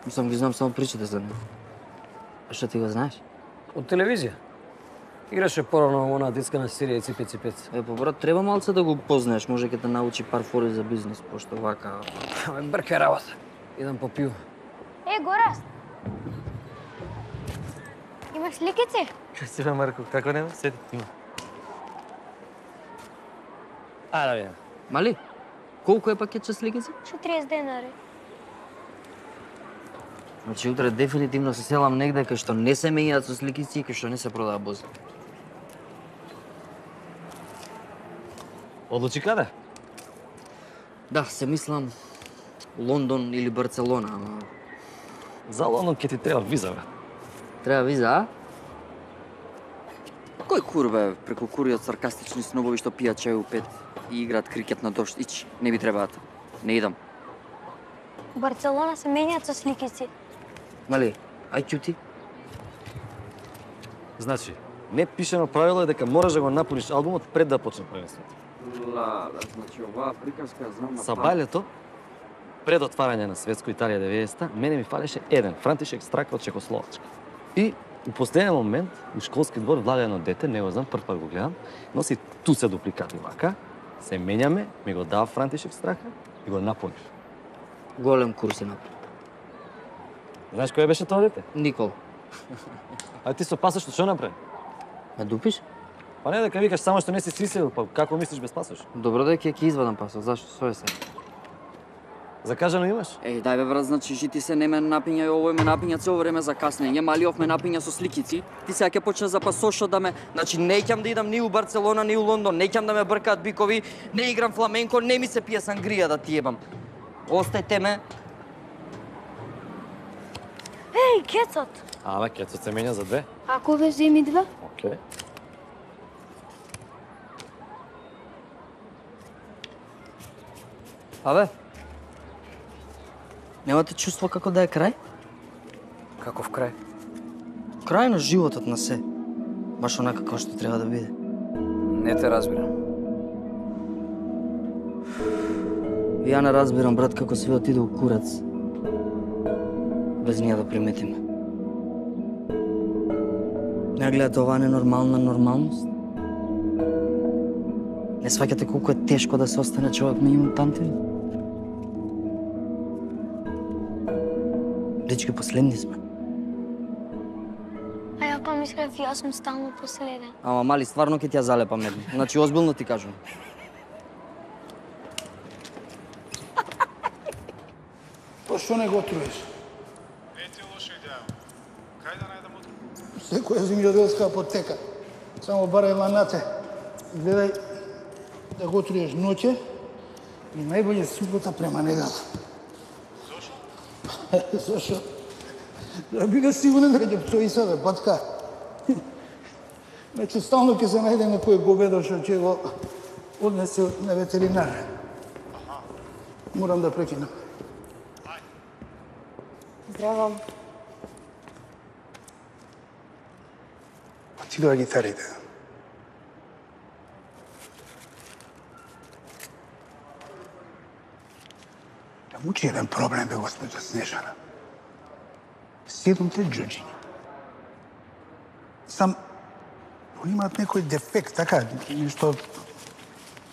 Мислам ги знам само причите за него. А што ти го знаеш? Од телевизија. Играше порано во онаа детска серија Ципе Ципец. Е, по брат, треба малце да го познаеш, може ќе те научи пар фори за бизнис, пошто вака... Аме брка работа. Идам по пиво. Е, Гораст! Имаш ликици? Красива, Марко, како нема? Седи, има. А, да видам. Мали, колку е пакетче с ликици? четириесет денари. Значи, утре дефинитивно се селам негде кај што не се мењаат со сликици и кај што не се продава бози. Одлучи каде? Да, се мислам Лондон или Барселона, ама... За Лондон ќе ти треба виза, бе. Треба виза, а? Кој кур, бе, преку куриот саркастични снобови што пијат чај у пет и играат крикет на дожд? Ич, не би требаат. Не идам. У Барселона се менјаат со сликици. Мали, ај ќути. Значи, не пишено правило е дека мораш да го напуниш албумот пред да почне првенството. Ла, значи оваа приказка знам... Са бајлето, пред отварање на Светско Италија деветдесета, мене ми фалеше еден Франтишек Страка од Чехословачка. И у последен момент, у школски двор влага едно дете, не го знам, прв пат го гледам, носи туце дупликати вака, се менјаме, ми го дава Франтишек Страка и го напуниш. Голем курс е напред. Знаеш кој беше тоа дете? Никол. А ти со пасош што направи? Ме дупиш? Па не, дека викаш само што не си сисел, па како мислиш без пасош? Добро да ќе ќе извадам пасош, зашто со е се? Закажано имаш? Еј, дај бе брат, значи жити се не ме напиња и овој ме напиња цело време за каснење, Малиов ме напиња со сликици. Ти сега ќе почне за пасошот да ме, значи не ќам да идам ни у Барселона, ни у Лондон, не ќам да ме бркаат бикови, не играм фламенко, не ми се пие сангрија да ти ебам. Остајте ме. Еј, кецот! Ама, кецот се менја за две. Ако ве земи два? Океј. Абе, немате чувство како да е крај? Каков крај? Крај на животот на се. Баш онака како што треба да биде. Не те разбирам. Ја не разбирам, брат, како све отиде у курац. Без ние да приметиме. Не гледате оваа ненормална нормалност? Не сваќате колку е тешко да се остане човек меѓу мутантите? Дечки, последни сме. А ја помислев, јас сум стално последен. Ама, мали, стварно ќе ти ја залепам едно. Значи, озбилно ти кажам. Па што не го труеш? Не ти е лоша идеја. Кај да најдам утре? Секоја земјоделска апотека. Само барај ланате. Гледај да го труеш ноќе и најбоље субота према недела. Зошо? Зошо? Да биде сигурен дека ќе пцои себе, патка. Значи, стално ќе се најде некој говедо што ќе го однесе на ветеринар. Морам да прекинам. Здраво. Па ти доја гитарите. Да мучи еден проблем, бе, госпожа Снежана. Седумте джуджиња. Сам, они имаат некој дефект, така, нешто,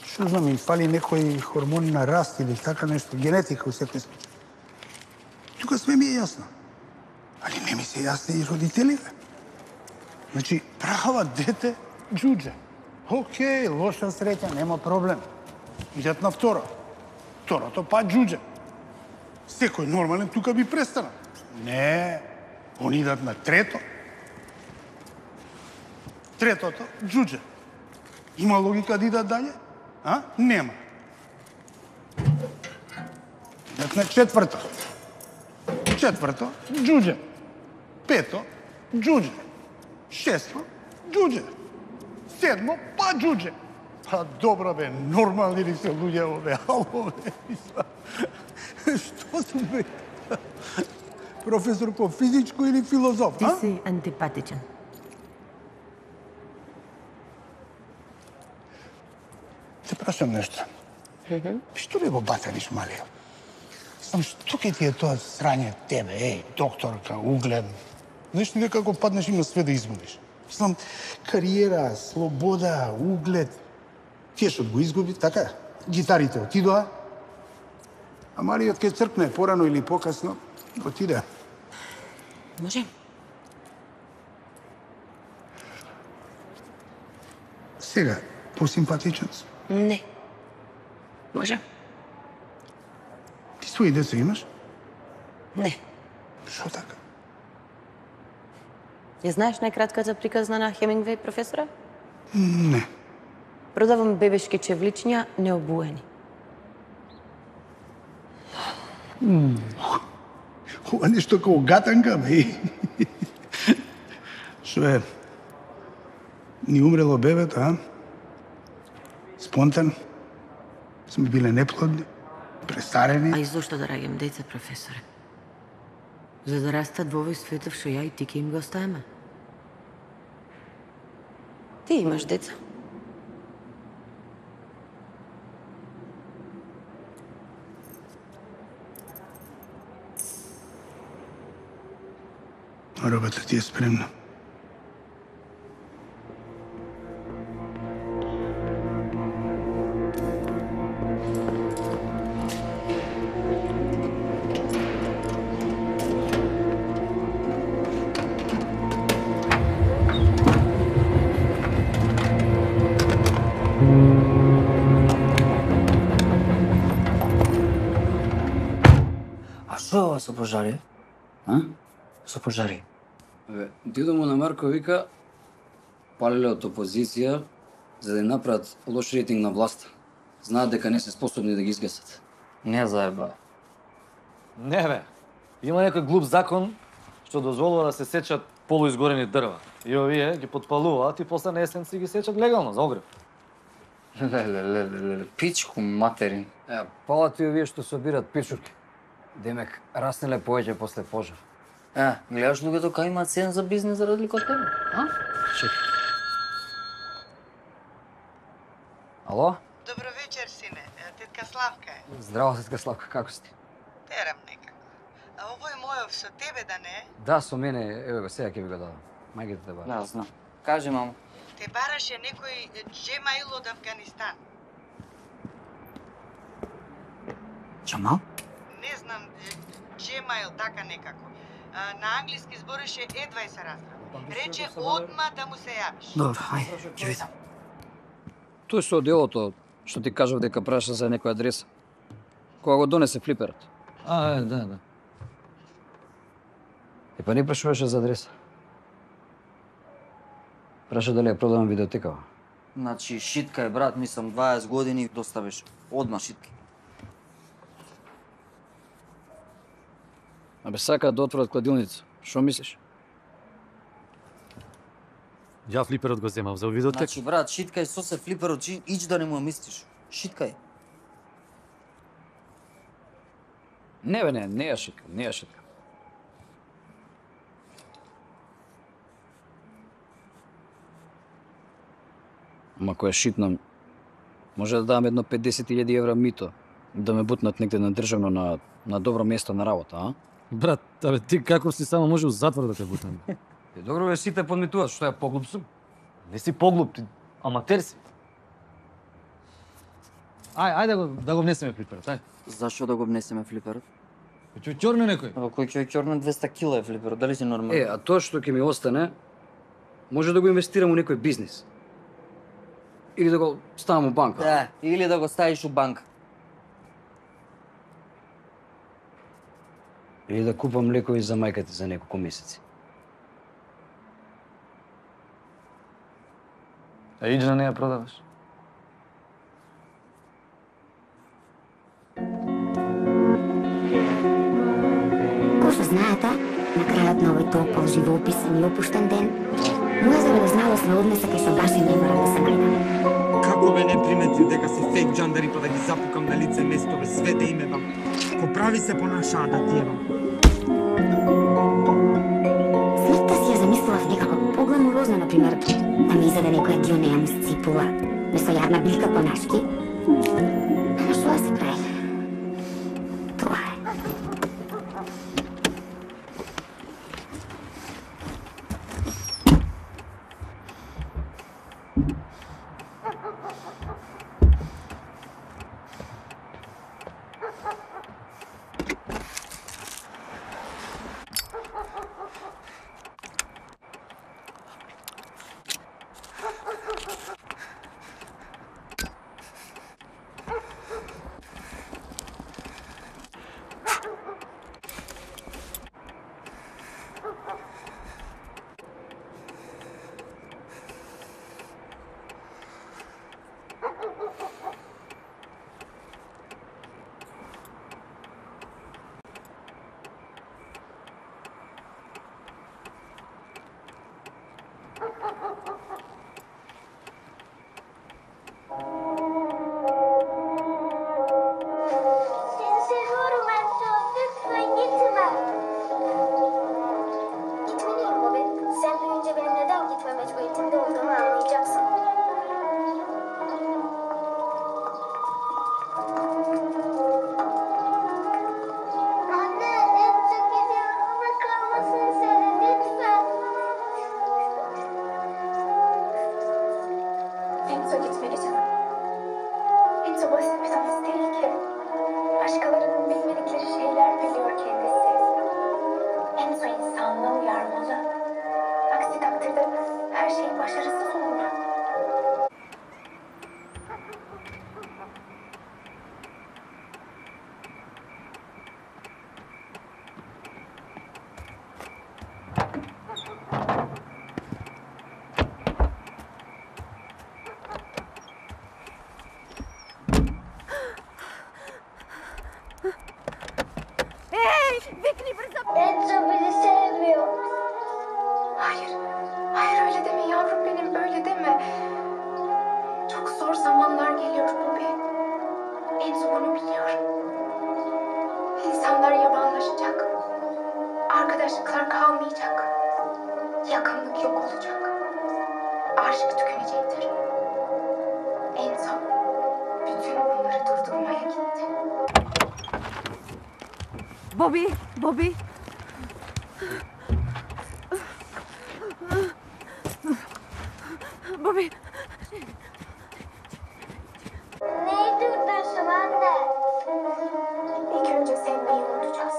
што знам, им фали некој хормон на раст или така нешто, генетика у секој случај. Тука све ми е јасно. Али не ми се јасни и родителиве. Значи, права дете, джудже. Океј, лоша среќа, нема проблем. Идат на второ. Второто па джудже. Секој нормален тука би престанал. Не, они идат на трето. Третото, джудже. Има логика да идат далje? А? Нема. Идат на четврто. Четврто, джудже. Пето, джудже. Шесто, джудже. Седмо, па джудже. Па добро бе, нормални ли се луѓе овде? Ало бе, што су бе? Професор по физичко или филозоф, Ти а? си антипатичен. Те прашам нешто. Што ли го батариш, Малија? Сам, што ке ти е тоа срање тебе, еј, докторка, углед? Знаеш ли дека ако паднеш има све да изгубиш? Сам, кариера, слобода, углед. Кешот го изгуби, така? Гитарите отидоа. А Мариот ке цркне порано или покасно, отиде. Може? Сега, посимпатичен си. Не. Може? Ти своји деца имаш? Не. Шо така? Ја знаеш најкратката приказна на Хемингвеј, професора? Не. Продавам бебешки чевличња необуени. Ова нешто како гатанка, бе. Што е? Ни умрело бебето, а? Спонтан? Сме биле неплодни? Престарени? А и зошто да раѓам деца, професоре? За да растат во овој светов што ја и ти ке им го оставаме. Ти имаш деца. Робата ти е спремна. А што е ова со пожари? А? Со пожари? Бе, дедо му на Марко вика палеле од опозиција за да направат лош рейтинг на власта. Знаат дека не се способни да ги изгасат. Не заеба. Не бе. Има некој глуп закон што дозволува да се сечат полуизгорени дрва. И овие ги потпалуваат и после на есен си ги сечат легално за огрев. Леле, леле, леле, пичку материн. Е, палат и овие што собират пичурки. Демек, раснеле повеќе после пожар. Е, гледаш луѓето кај имаат сен за бизнес за разлика од тебе, а? Чекай. Ало? Добро вечер, сине. Тетка Славка е. Здраво, тетка Славка, како сте? Терам некако. А овој мојов со тебе да не е? Да, со мене, еве го, сега ќе ви го дадам. Мајгите те бара. Да, знам. Кажи, мамо. Те бараше некој Джемаил од Афганистан. Джамал? Не знам, Джемаил така некако. А, на англиски збореше едва и се разбра. Рече одма да му се јавиш. Добро, ајде, ќе видам. Тој со делото, што ти кажав дека праша за некоја адреса. Кога го донесе флиперот. А, е, да, да. И па не прашуваше за адреса. Праша дали ја продавам видеотекава. Значи, шитка е, брат, мислам, дваесет години доставиш. Одма шитки. Абе, сакаат да отворат кладилница. Шо мислиш? Ја флиперот го земав за видеотек. Значи, брат, шиткај со се флиперот, ич да не му ја мислиш. Шиткај. Не бе, не, не ја шитка, не ја шитка. Ама која шитнам, може да дадам едно петдесет илјади евра мито, да ме бутнат негде на државно на, на добро место на работа, а? Брат, абе, ти како си само може у затвор да те бутам. Е, добро бе, сите подметуваат, што ја поглуп сум? Не си поглуп, ти аматер си. Ај, ајде да го, да го внесеме флиперот, ај. Зашо да го внесеме флиперот? Ќе ќорне некој. Абе, кој ќе ќорне двеста кила е флиперот, дали си нормален? Е, а тоа што ќе ми остане, може да го инвестирам у некој бизнис. Или да го ставам у банка. Да, или да го ставиш у банка. Или да купам лекови за мајка ти за неколку месеци. А иџна не ја продаваш? Ко што знаете, на крајот на овој топол, живоописен и опуштен ден, моја забележналост ме однесе кај што баш и не морам да се најдам. Како бе не приметил дека си фейк джандари па да ги запукам на лице место бе све да име бам. Ко прави се понашаа да тиевам. Смртта си ја замислував некако погламурозно, например, да ми изеде некоја ѓонеја му сципула, место јадна билка конашки. Ама што да се прави? Тоа е. aşk tükenecektir. En son bütün bunları durdurmaya gitti. Bobby, Bobby. Bobby. Neyi durdursun anne? İlk önce sevmeyi unutacağız.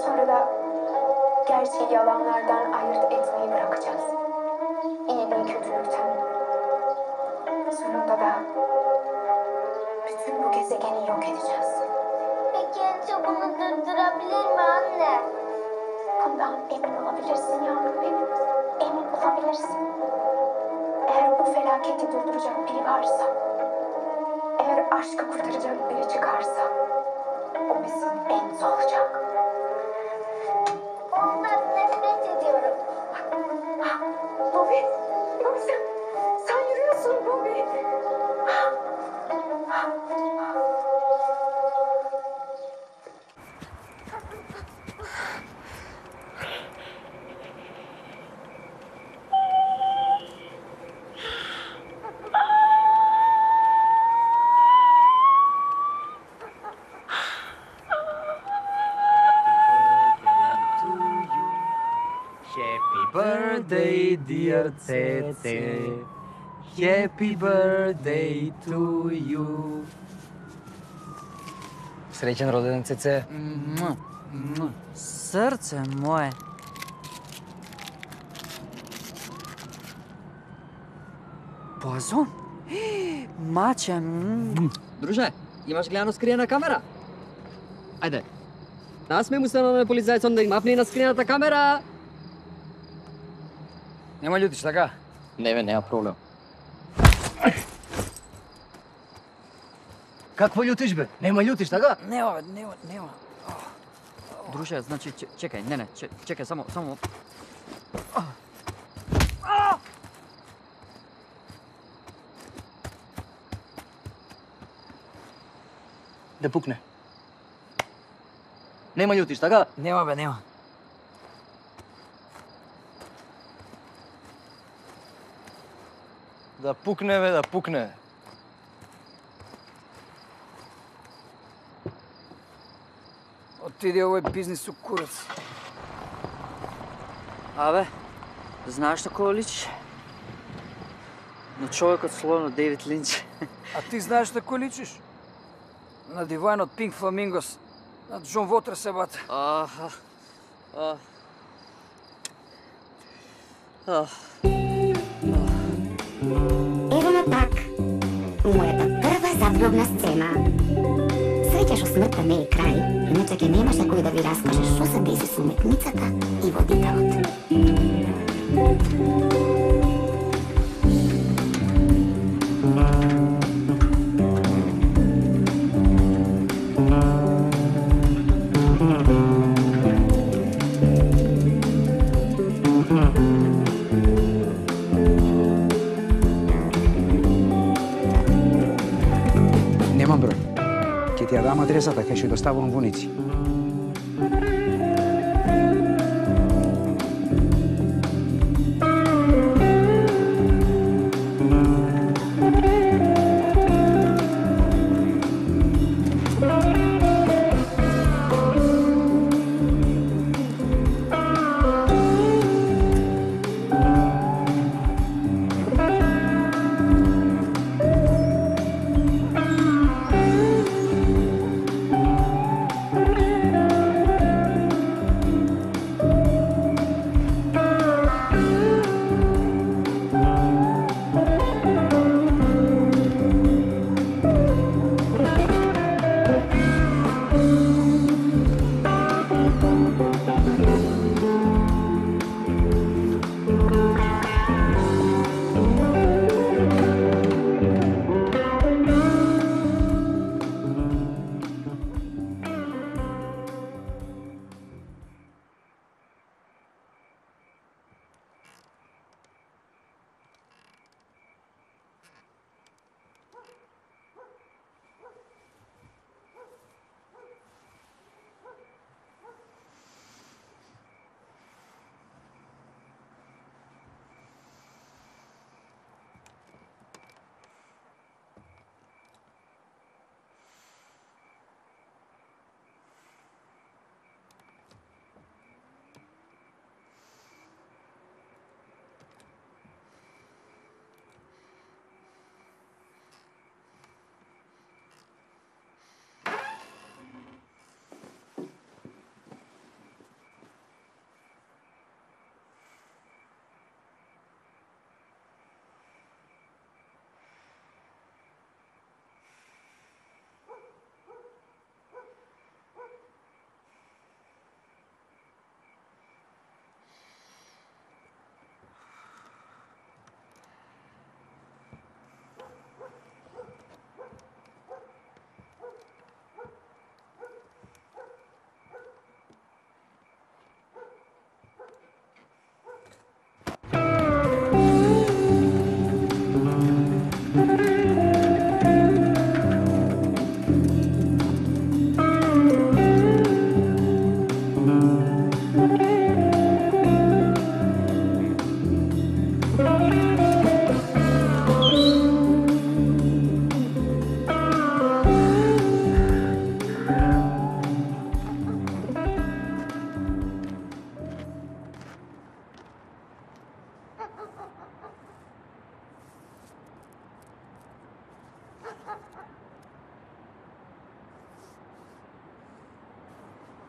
Sonra da gerçeği yalanlardan ayırt etmeyi bırakacağız. İyiliği kötülükten. Sonunda da bütün bu gezegeni yok edeceğiz. Peki Enzo bunu durdurabilir mi anne? Bundan emin olabilirsin yavrum benim. Emin olabilirsin. Eğer bu felaketi durduracak biri varsa, eğer aşkı kurtaracak biri çıkarsa, o bizim Enzo olacak. Ondan nefret ediyorum. Bobby, Bobby sen, sen yürüyorsun Bobby. Birthday, dear Cece. Happy birthday to you. Srećan rođendan, Cece. Srce moje. Базон? Маче. Друже, имаш гледано скриена камера? Ајде. Насме му се на полицајцом да им мапне на скриената камера. Нема љутиш, така? Не, бе, нема проблем. Какво љутиш, бе? Нема љутиш, така? Нема, бе, нема, нема. Друже, значи, че- чекај, не, не, че- чекај, само, само... Да пукне. Нема љутиш, така? Нема, бе, нема. Да пукне, бе, да пукне. Отиди овој бизнис у курац. Абе, знаеш на кој личиш? На човекот словно Дейвид Линч. А ти знаеш на кој личиш? На дивајн од Pink Flamingos. На Джон Вотер се бата. Аха. А. А. Ево ме пак. Мојата прва загробна сцена. Среќаш смртта не е крај, иначе ќе немаше кој да ви раскаже што се деси со уметницата и водителот. Немам број. Ќе ти ја дам адресата, ќе ќе доставувам воници.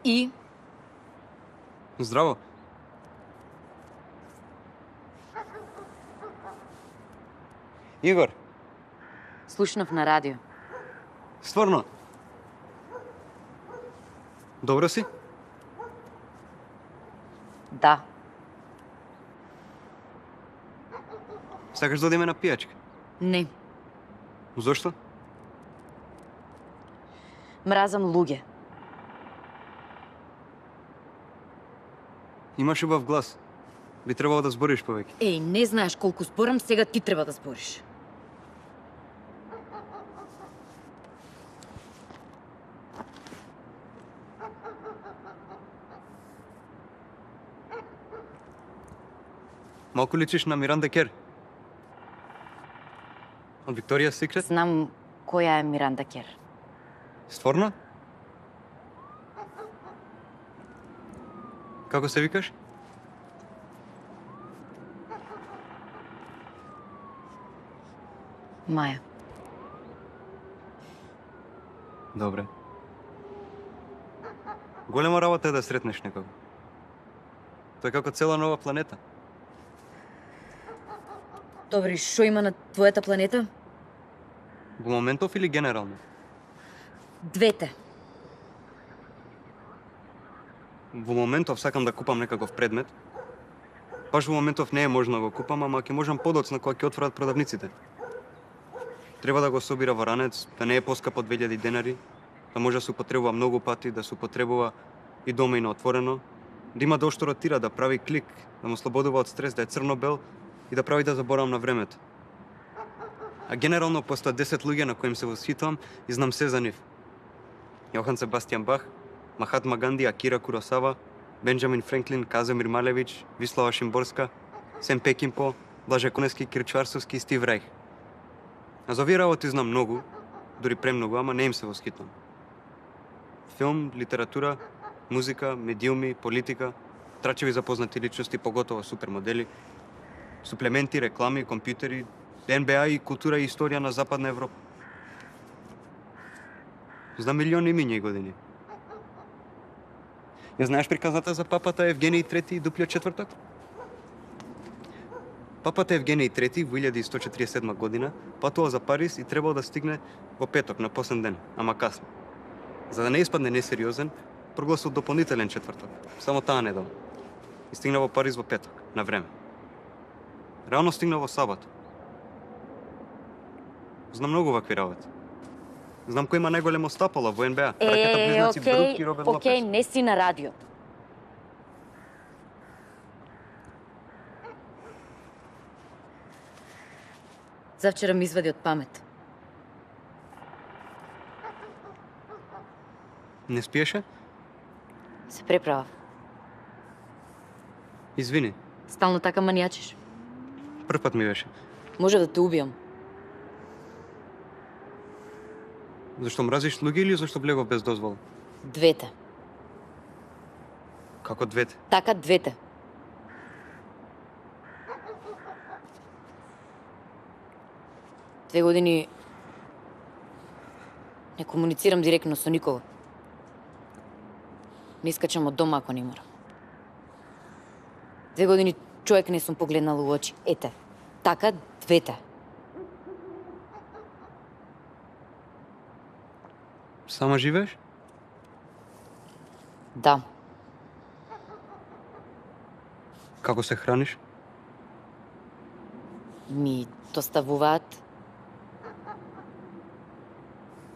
И? Здраво. Игор, Слушнав на радио. стварно? Добро си? Да. Сакаш да одиме на пијачка? Не. Зошто? Мразам луѓе. Имаш убав глас. Би требало да збориш повеќе. Еј, не знаеш колку зборам, сега ти треба да збориш. Малку личиш на Миранда Кер. Од Викторија Секрет? Знам која е Миранда Кер. Стварно? Како се викаш? Маја. Добре. Голема работа е да сретнеш некого. Тоа е како цела нова планета. Добри, шо има на твојата планета? Во моментов или генерално? Двете. Во моментов сакам да купам некаков предмет. Баш во моментов не е можно да го купам, ама ќе можам подоцна кога ќе отворат продавниците. Треба да го собира во ранец, да не е поскапо од две илјади денари, да може да се употребува многу пати, да се употребува и дома и на отворено, да има да што ротира, да прави клик, да му слободува од стрес, да е црно-бел и да прави да заборавам на времето. А генерално постојат десет луѓе на кои им се восхитувам и знам се за нив. Јохан Себастијан Бах, Махатма Ганди, Акира Куросава, Бенџамин Френклин, Казимир Малевич, Вислава Шимборска, Сем Пекинпо, Блаже Коневски, Кирчварсовски и Стив Рајх. А за овие работи знам многу, дури премногу, ама не им се восхитувам. Филм, литература, музика, медиуми, политика, трачеви запознати личности, поготово супермодели, суплементи, реклами, компјутери, Н Б А и култура и историја на Западна Европа. Знам милиони имиња и години. Ја знаеш приказната за папата Евгений трети и Дуплиот четврток? Папата Евгений трети во илјада и сто четиридесет и седма година патува за Париз и требало да стигне во петок на последен ден, ама касно. За да не испадне несериозен, прогласил дополнителен четврток, само таа недела. И стигна во Париз во петок, на време. Реално стигна во сабат. Знам многу вакви работи. Знам кој има најголемо стапало во Н Б А. Ракета Е, близнаци Брук и окей, Роберт окей, Лопес. не си на радио. Завчера ми извади од памет. Не спиеше? Се преправав. Извини, Стално така манијачиш. прв пат ми беше. Може да те убијам. Зашто мразиш луѓе или зашто влегов без дозвола? Двете. Како двете? Така двете. Две години не комуницирам директно со никого. Не искачам од дома ако не морам. Две години човек не сум погледнала у очи. Ете, така двете. Сама живееш? Да. Како се храниш? Ми доставуваат.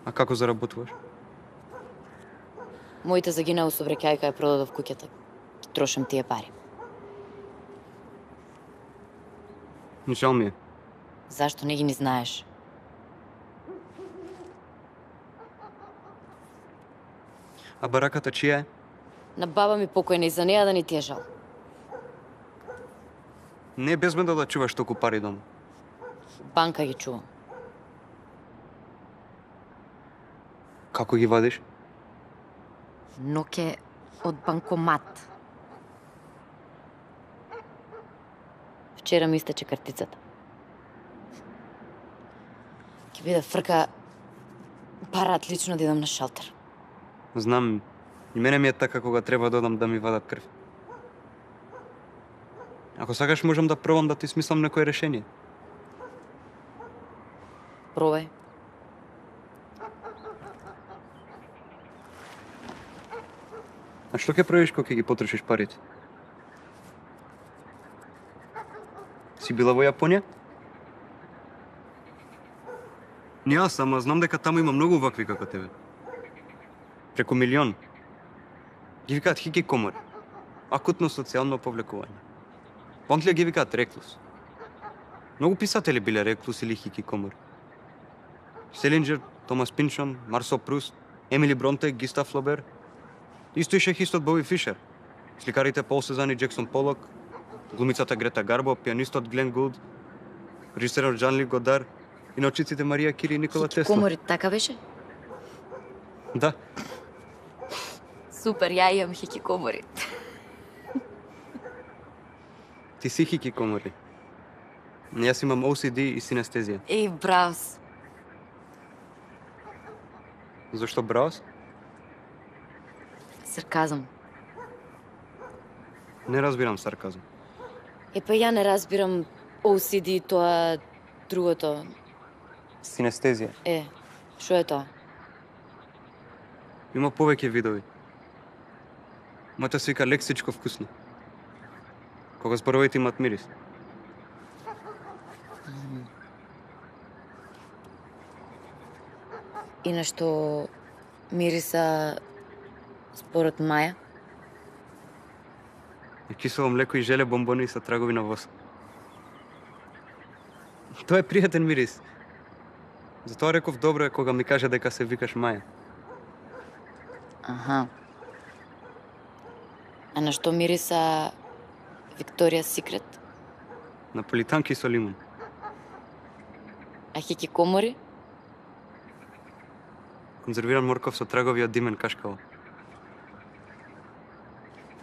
А како заработуваш? Моите загинаа со вреќајка ја продадов куќата. Ги трошам тие пари. Жал ми е. Зашто не ги ни знаеш? А бараката чија е? На баба ми покојна и за неа да не ти е жал. Не е безбедно да чуваш толку пари дома. Банка ги чувам. Како ги вадиш? Ноќе од банкомат. Вчера ми истече картицата. Ќе биде фрка парат лично да идам на шалтер. Знам, И мене ми е така кога треба да одам да ми вадат крв. Ако сакаш можам да пробам да ти смислам некое решение. Пробај. А што ќе правиш кога ќе ги потрошиш парите? Си била во Јапонија? Не јас, ама знам дека таму има многу вакви како тебе. Преку милион. Ги викаат хикикомори. Акутно социјално повлекување. Во Англија ги викаат реклус. Многу писатели биле реклус или хикикомори. Селинджер, Томас Пинчон, Марсел Пруст, Емили Бронте, Гистав Флобер. Исто и шехистот Боби Фишер. Сликарите Пол Сезан и Джексон Полок, глумицата Грета Гарбо, пианистот Глен Гулд, режисерот Жан Ли Годар и научниците Марија Кири и Никола Тесла. Хикикомори, така беше? Да. Супер, ја имам хикикомори. Ти си хикикомори. Јас имам О Си Ди и синестезија. Еј, браус. Зошто браус? Сарказам. Не разбирам сарказам. Е, па ја не разбирам О Си Ди, тоа другото. Синестезија. Е, што е тоа? Има повеќе видови. Моето се вика лексичко вкусно. Кога зборовите имат мирис. И на што мириса според Маја? И кисело млеко и желе бомбони со трагови на воск. Тоа е пријатен мирис. Затоа реков добро е кога ми каже дека се викаш Маја. Аха. А на што мириса Викторија Секрет? Наполитанки со лимон. А хикикомори? Конзервиран морков со трагови од димен кашкава.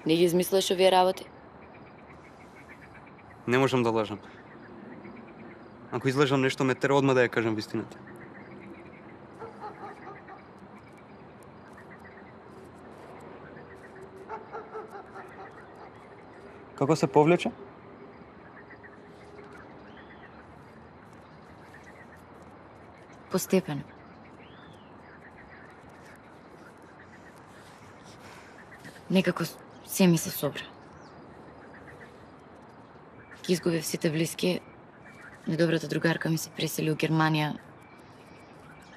Не ги измислеш овие работи? Не можам да лажам. Ако излажам нешто, ме тера одма да ја кажам вистината. Како се повлече? Постепено. Некако се ми се собра. Ки изгубив сите блиски, недобрата другарка ми се пресели у Германија.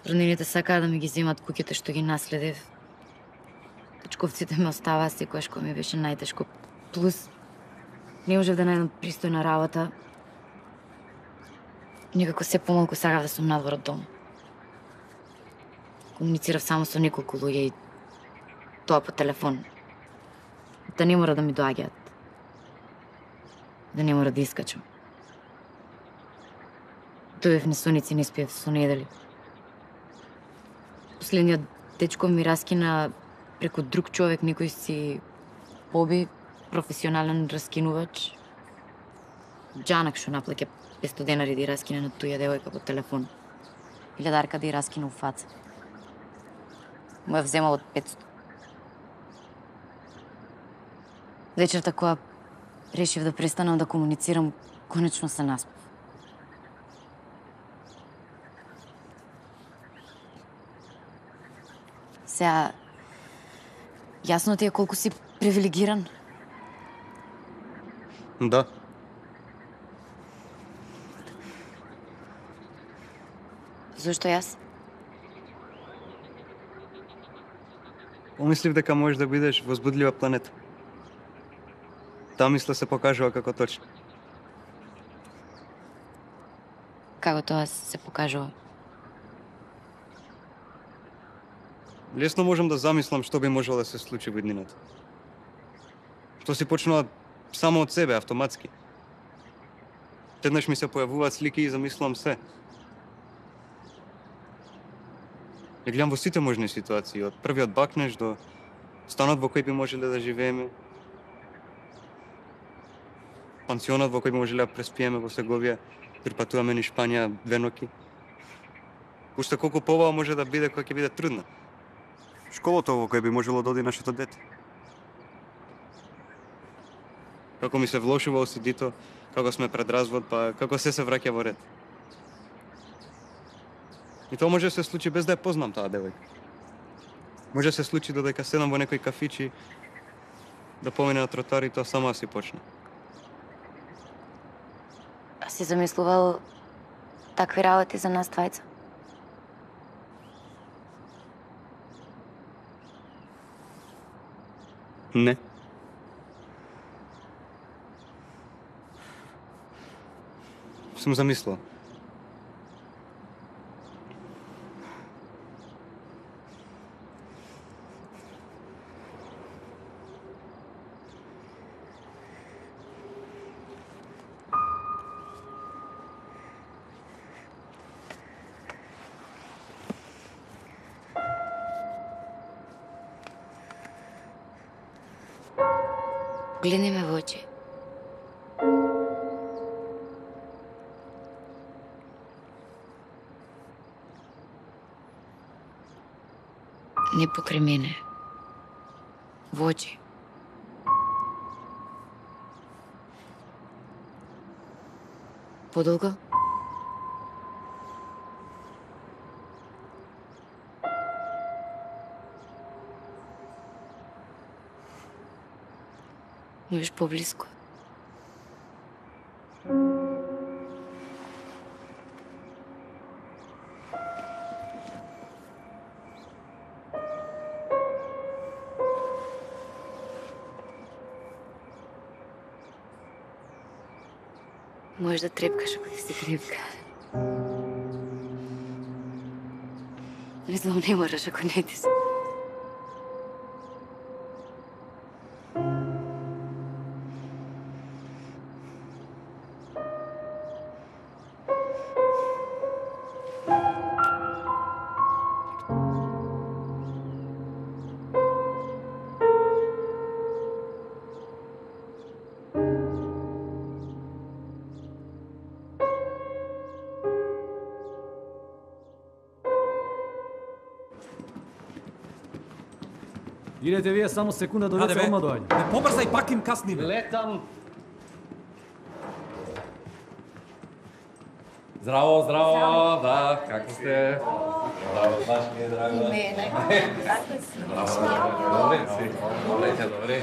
Роднините сакаа да ми ги земат куќите што ги наследив. Дечковците ме оставаа секојаш кога ми беше најтешко. Плюс, не можев да најдам пристојна работа. Некако се помалку сакав да сум надвор од дом. Комуницирав само со неколку луѓе и тоа по телефон. Да не мора да ми доаѓаат. Да не мора да искачам. Дојдев на соници, не спиев со недели. Последниот дечко ми раскина преку друг човек, некој си Боби, професионален раскинувач. Джанак што наплаќа петстотини денари да ја раскине на туја девојка по телефон. Илјадарка да ја раскина у фаца. Му ја вземал од петстотини. Вечерта кога решив да престанам да комуницирам, конечно се наспав. Сега, јасно ти е колку си привилегиран? Да. Зошто јас? Помислив дека можеш да бидеш возбудлива планета. Таа мисла се покажува како точно. Како тоа се покажува? Лесно можам да замислам што би можело да се случи во иднината. Што си почнува само од себе, автоматски. Еднаш ми се појавуваат слики и замислам се. Ја гледам во сите можни ситуации, од првиот бакнеж до станот во кој би можеле да живееме, пансионот во кој би можеле да преспиеме во Сеговија, припатуваме низ Шпанија две ноќи. Уште колку побава може да биде кога ќе биде трудна. Школото во кој би можело да оди нашето дете. Како ми се влошува о си ди-то, како сме пред развод, па како се се враќа во ред. И тоа може да се случи без да ја познам таа девојка. Може да се случи додека седам во некој кафичи, да помине на тротоар и тоа само да си почне. А си замислувал такви работи за нас двајца? Не. Сум замислил. Гледни ме во очи. Не покрај мене. Во очи. Подолго? Можеш поблиско. Можеш да трепкаш ако ти се трепка. Не знам, не мораш ако не ти се. Идете вие само секунда до деца, одма доаѓа. Не побрзај, пак им касниме. Летам. Здраво, здраво, да, како сте? Здраво, баш ми е драго. И мене. Како си? Добре, добре, добре.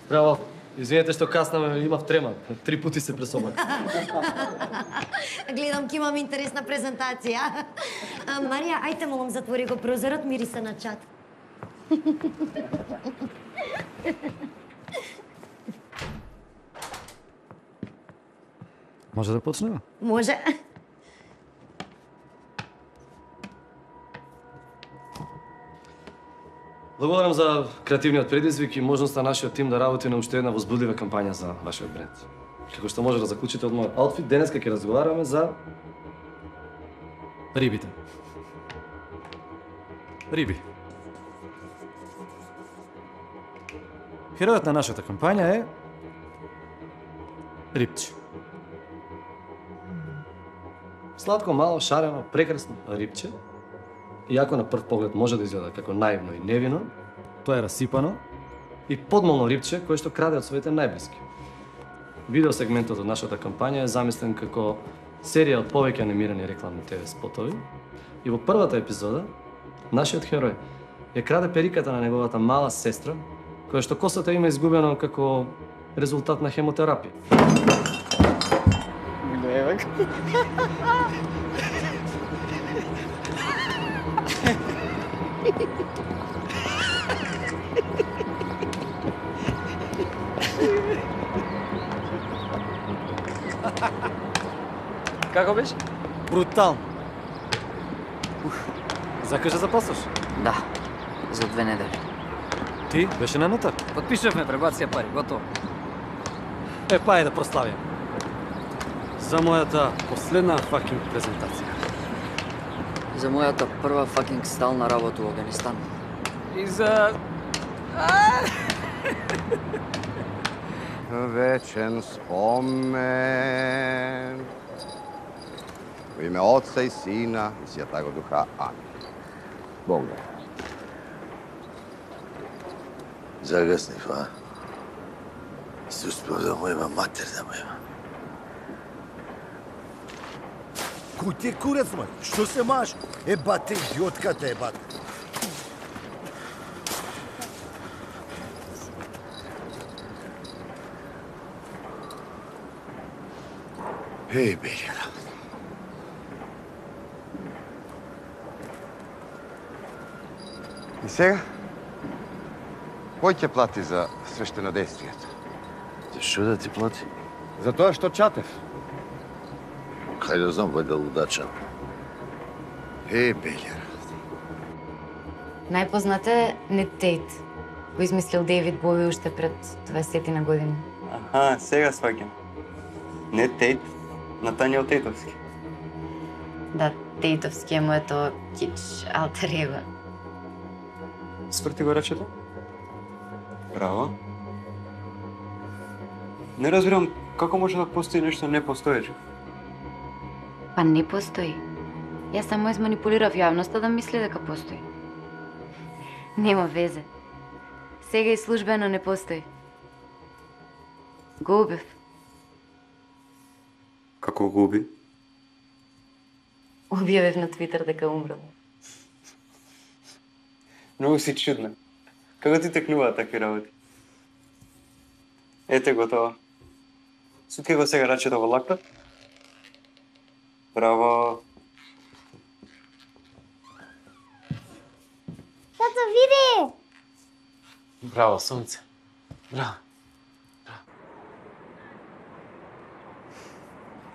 Браво. Извинете што каснаме, имав трема. Три пути се пресобак. Гледам ки имам интересна презентација. А, Марија, ајте молам затвори го прозорот, мириса на чат. Може да почнеме? Може. Благодарам за креативниот предизвик и можноста нашиот тим да работи на уште една возбудлива кампања за вашиот бренд. Како што може да заклучите од мојот аутфит, денеска ќе разговараме за рибите. Риби. Херојот на нашата кампања е рибче. Сладко, мало, шарено, прекрасно рибче. Иако на прв поглед може да изгледа како наивно и невино, тоа е расипано и подмолно рибче кое што краде од своите најблиски. Видеосегментот од нашата кампања е замислен како серија од повеќе анимирани рекламни те ве спотови и во првата епизода нашиот херој ја краде периката на неговата мала сестра, која што косата има изгубено како резултат на хемотерапија. Глевак. Како беше? Брутално. Закажа да запасаш? Да, за две недели. Ти беше на нотар? Подпишавме, пребација пари, готово. Е, па е да прославим. за мојата последна факинг презентација. За мојата прва факинг стална работа во Афганистан. И за... Вечен спомен. У име Отца и Сина и Святаго Духа. Амин. Бог да. Загаснив, а? Се успев да му има матер да му има. Кој ти е курец, мали? Што се маш? Е, бате, идиотката е, бате. Еј, Белјана. И сега? Кој ќе плати за свештенодействието? Што да ти плати? За тоа што чатев. Кај да знам, вајда лудачан. Е, Белјана. Најпознат е Нед Тейт, го измислил Дейвид Бови уште пред дваесет на години. Аха, сега сваќам. Нед Тейт, Натаниел Тейтовски. Да, Тейтовски е моето кич алтер его. Сврти го речето? Браво. Не разбирам како може да постои нешто непостоече. Па не постои. Јас само изманипулирав јавноста да мисли дека постои. Нема везе. Сега и службено не постои. Го убив. Како го уби? Објавив на Твитер дека умрел. Многу си чудна. Како ти текнуваат такви работи? Ете готово. Сутке го сега рачето во лакта. Браво. Тато, види! Браво, сонце. Браво.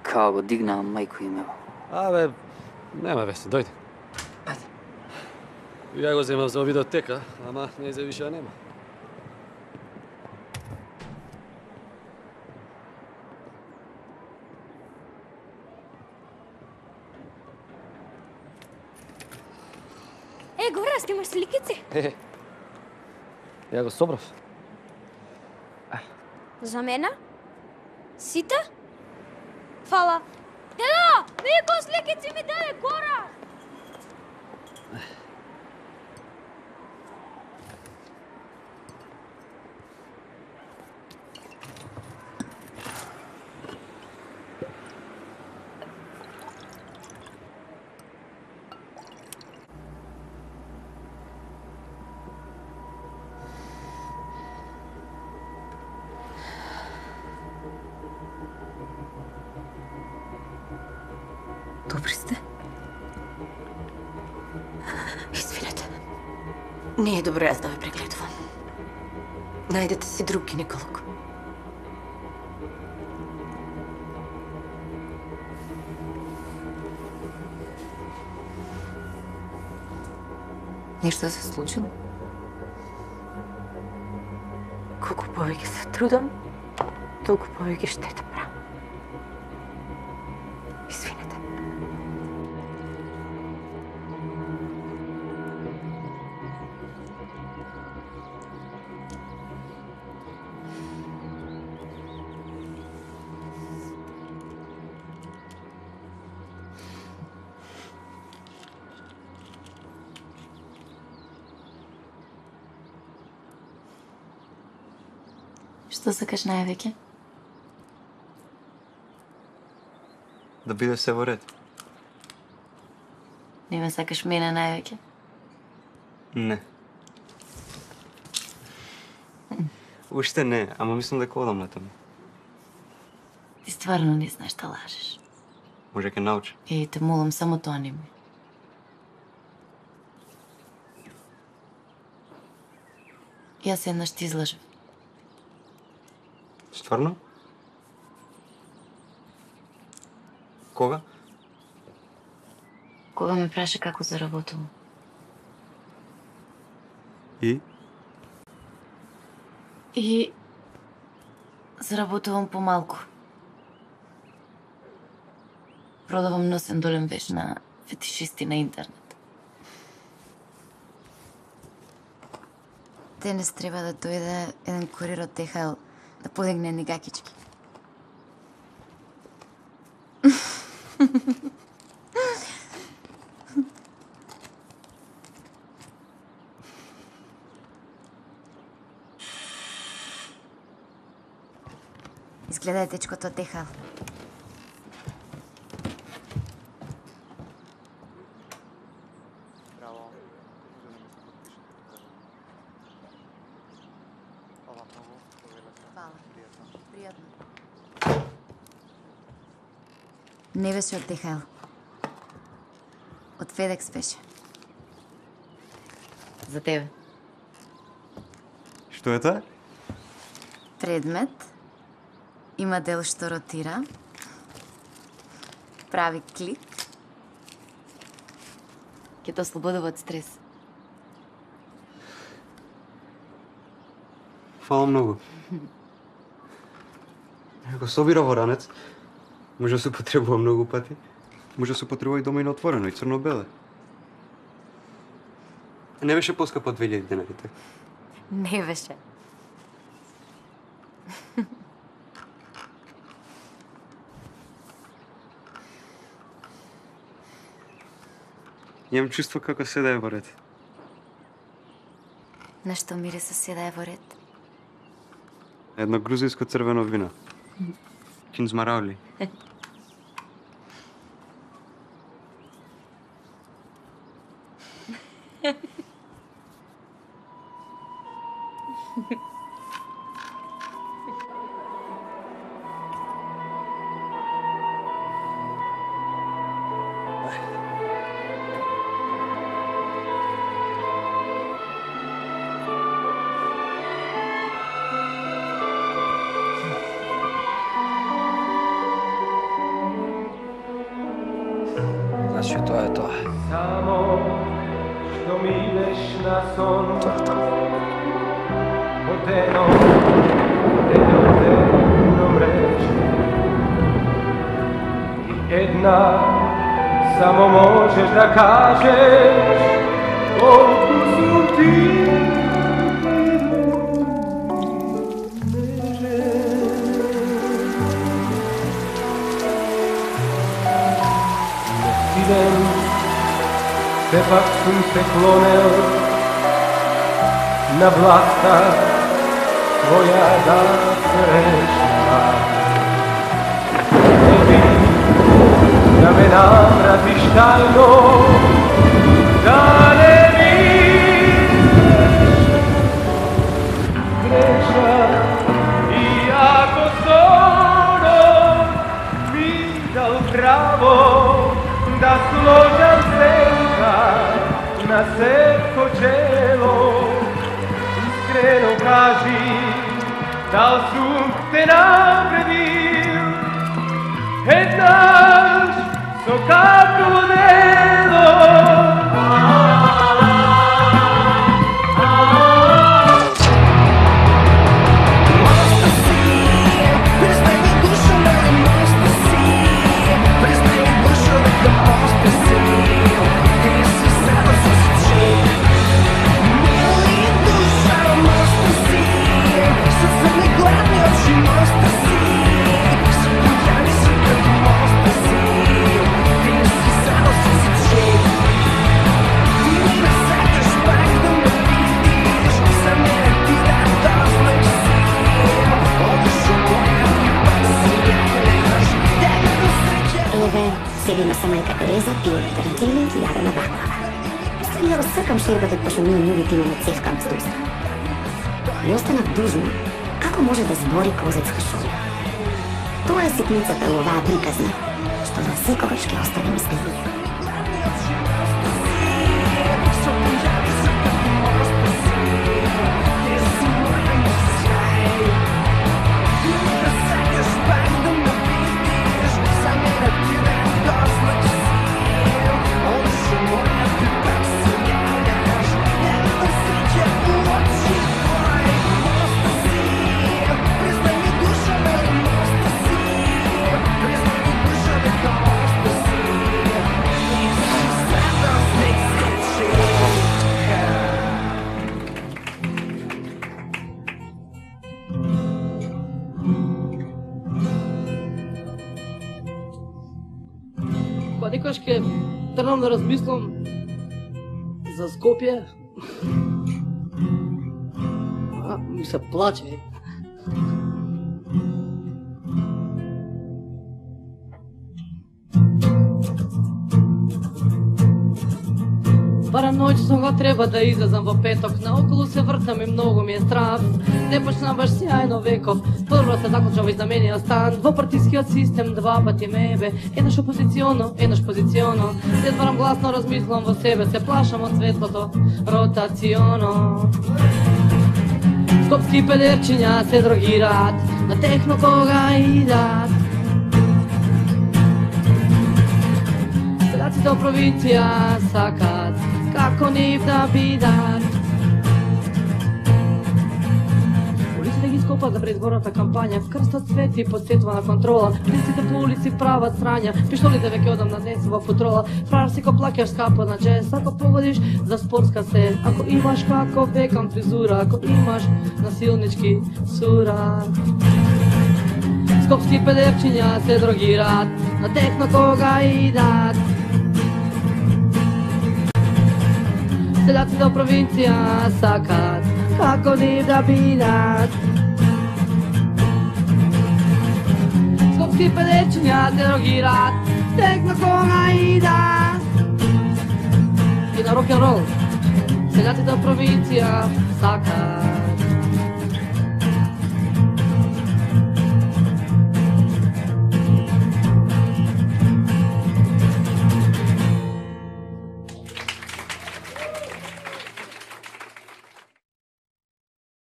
Као го дигнаа мајко имево. Абе, нема вести, дојди. Ајде. Ја го земав за видеотека, ама не за више нема. Е, Горас, ти имаш сликици? Е, ја го собрав. За мене? Сите? Фала. Деда, види кој сликици ми даде Горас! Добри сте? Извинете. Не е добро јас да ве прегледувам. Најдете си друг гинеколог. Нешто се случило? Колку повеќе се трудам, толку повеќе штета правам. Извинете. Што сакаш највеќе? Да биде се во ред. Не ме сакаш мене највеќе? Не. Уште не, ама мислам дека одам летом. Ти стварно не знаеш да лажеш. Може ке научи. Еј, те молам, само тоа не ми. Јас еднаш ти излажев. Стварно? Кога? Кога ме праша како заработувам. И? И заработувам помалку. Продавам носен долен веш на фетишисти на интернет. Денес треба да дојде еден курир од Д Х Л да подигне ни гакички. Изгледа е дечкото од Д Х Л. Не беше од Д Х Л. Од Федекс беше. За тебе. Што е тоа? Предмет. Има дел што ротира. Прави клик. Ке те ослободува од стрес. Фала многу. Ако собира во ранец, може да се употребува многу пати. Може да се употребува и дома и на отворено, и црно-беле. Не беше поскапо од две илјади денари, така? Не беше. Имам чувство како се да е во ред. На што мириса се да е во ред? Едно грузинско црвено вино. Кинзмараули. Значи тоа е тоа. Само што милеш на сон. Тоа е тоа. Одено, одено, одено мрече. И една само можеш да кажеш колку сум ти. Сепак сум се клонел на власта твоја да срещна. Не би да ме намразиш тајно, да не мислиш греша. И ако сонот ми дал право да сложам сенка на секо чело, искрено кажи, дал сум те навредил, еднаш со како дело. Седиме со мајка Тереза, пиеме тарантели и јадеме баклава. Стани да го сркам шербетот, пошто ние њугите имаме цевкам с дуста. И останав дужна, како може да збори козецка шума. Тоа е ситницата во оваа приказна, што за секогаш ќе остане мистерија. Признай ми душа, дай моста си. Секогаш ке тргнам да размислам за Скопје, а, ми се плаче. Барем ноќно го треба да излезам во петок, наоколу се вртам и многу ми е страв. Не почна баш сјајно веков, прво се заклуча во изнамениот стан. Во партискиот систем два пати мебе, еднаш опозиционо, еднаш позиционо. Не зборам гласно, размислам во себе, се плашам од светлото ротационо. Скопски педерчиња се дрогираат, на техно кога идат. Селаците од провинција сакат како нив да бидат. Улиците ги скопат за предизборната кампања, крстат цвети подсетува на контрола. Деците по улици прават срања, пиштолите веќе одамна не се во патрола. Фрар си ко плакаш скапа на джез, ако погодиш за спортска се, ако имаш како Бекам фризура, ако имаш насилнички сура. Скопски педерчиња се дрогираат, на техно кога идат. Селаците од провинција сакат како нив да бидат. Скопски педерчиња се дрогираат, техно кога идат. И на рок-н-рол селаците од провинција сакат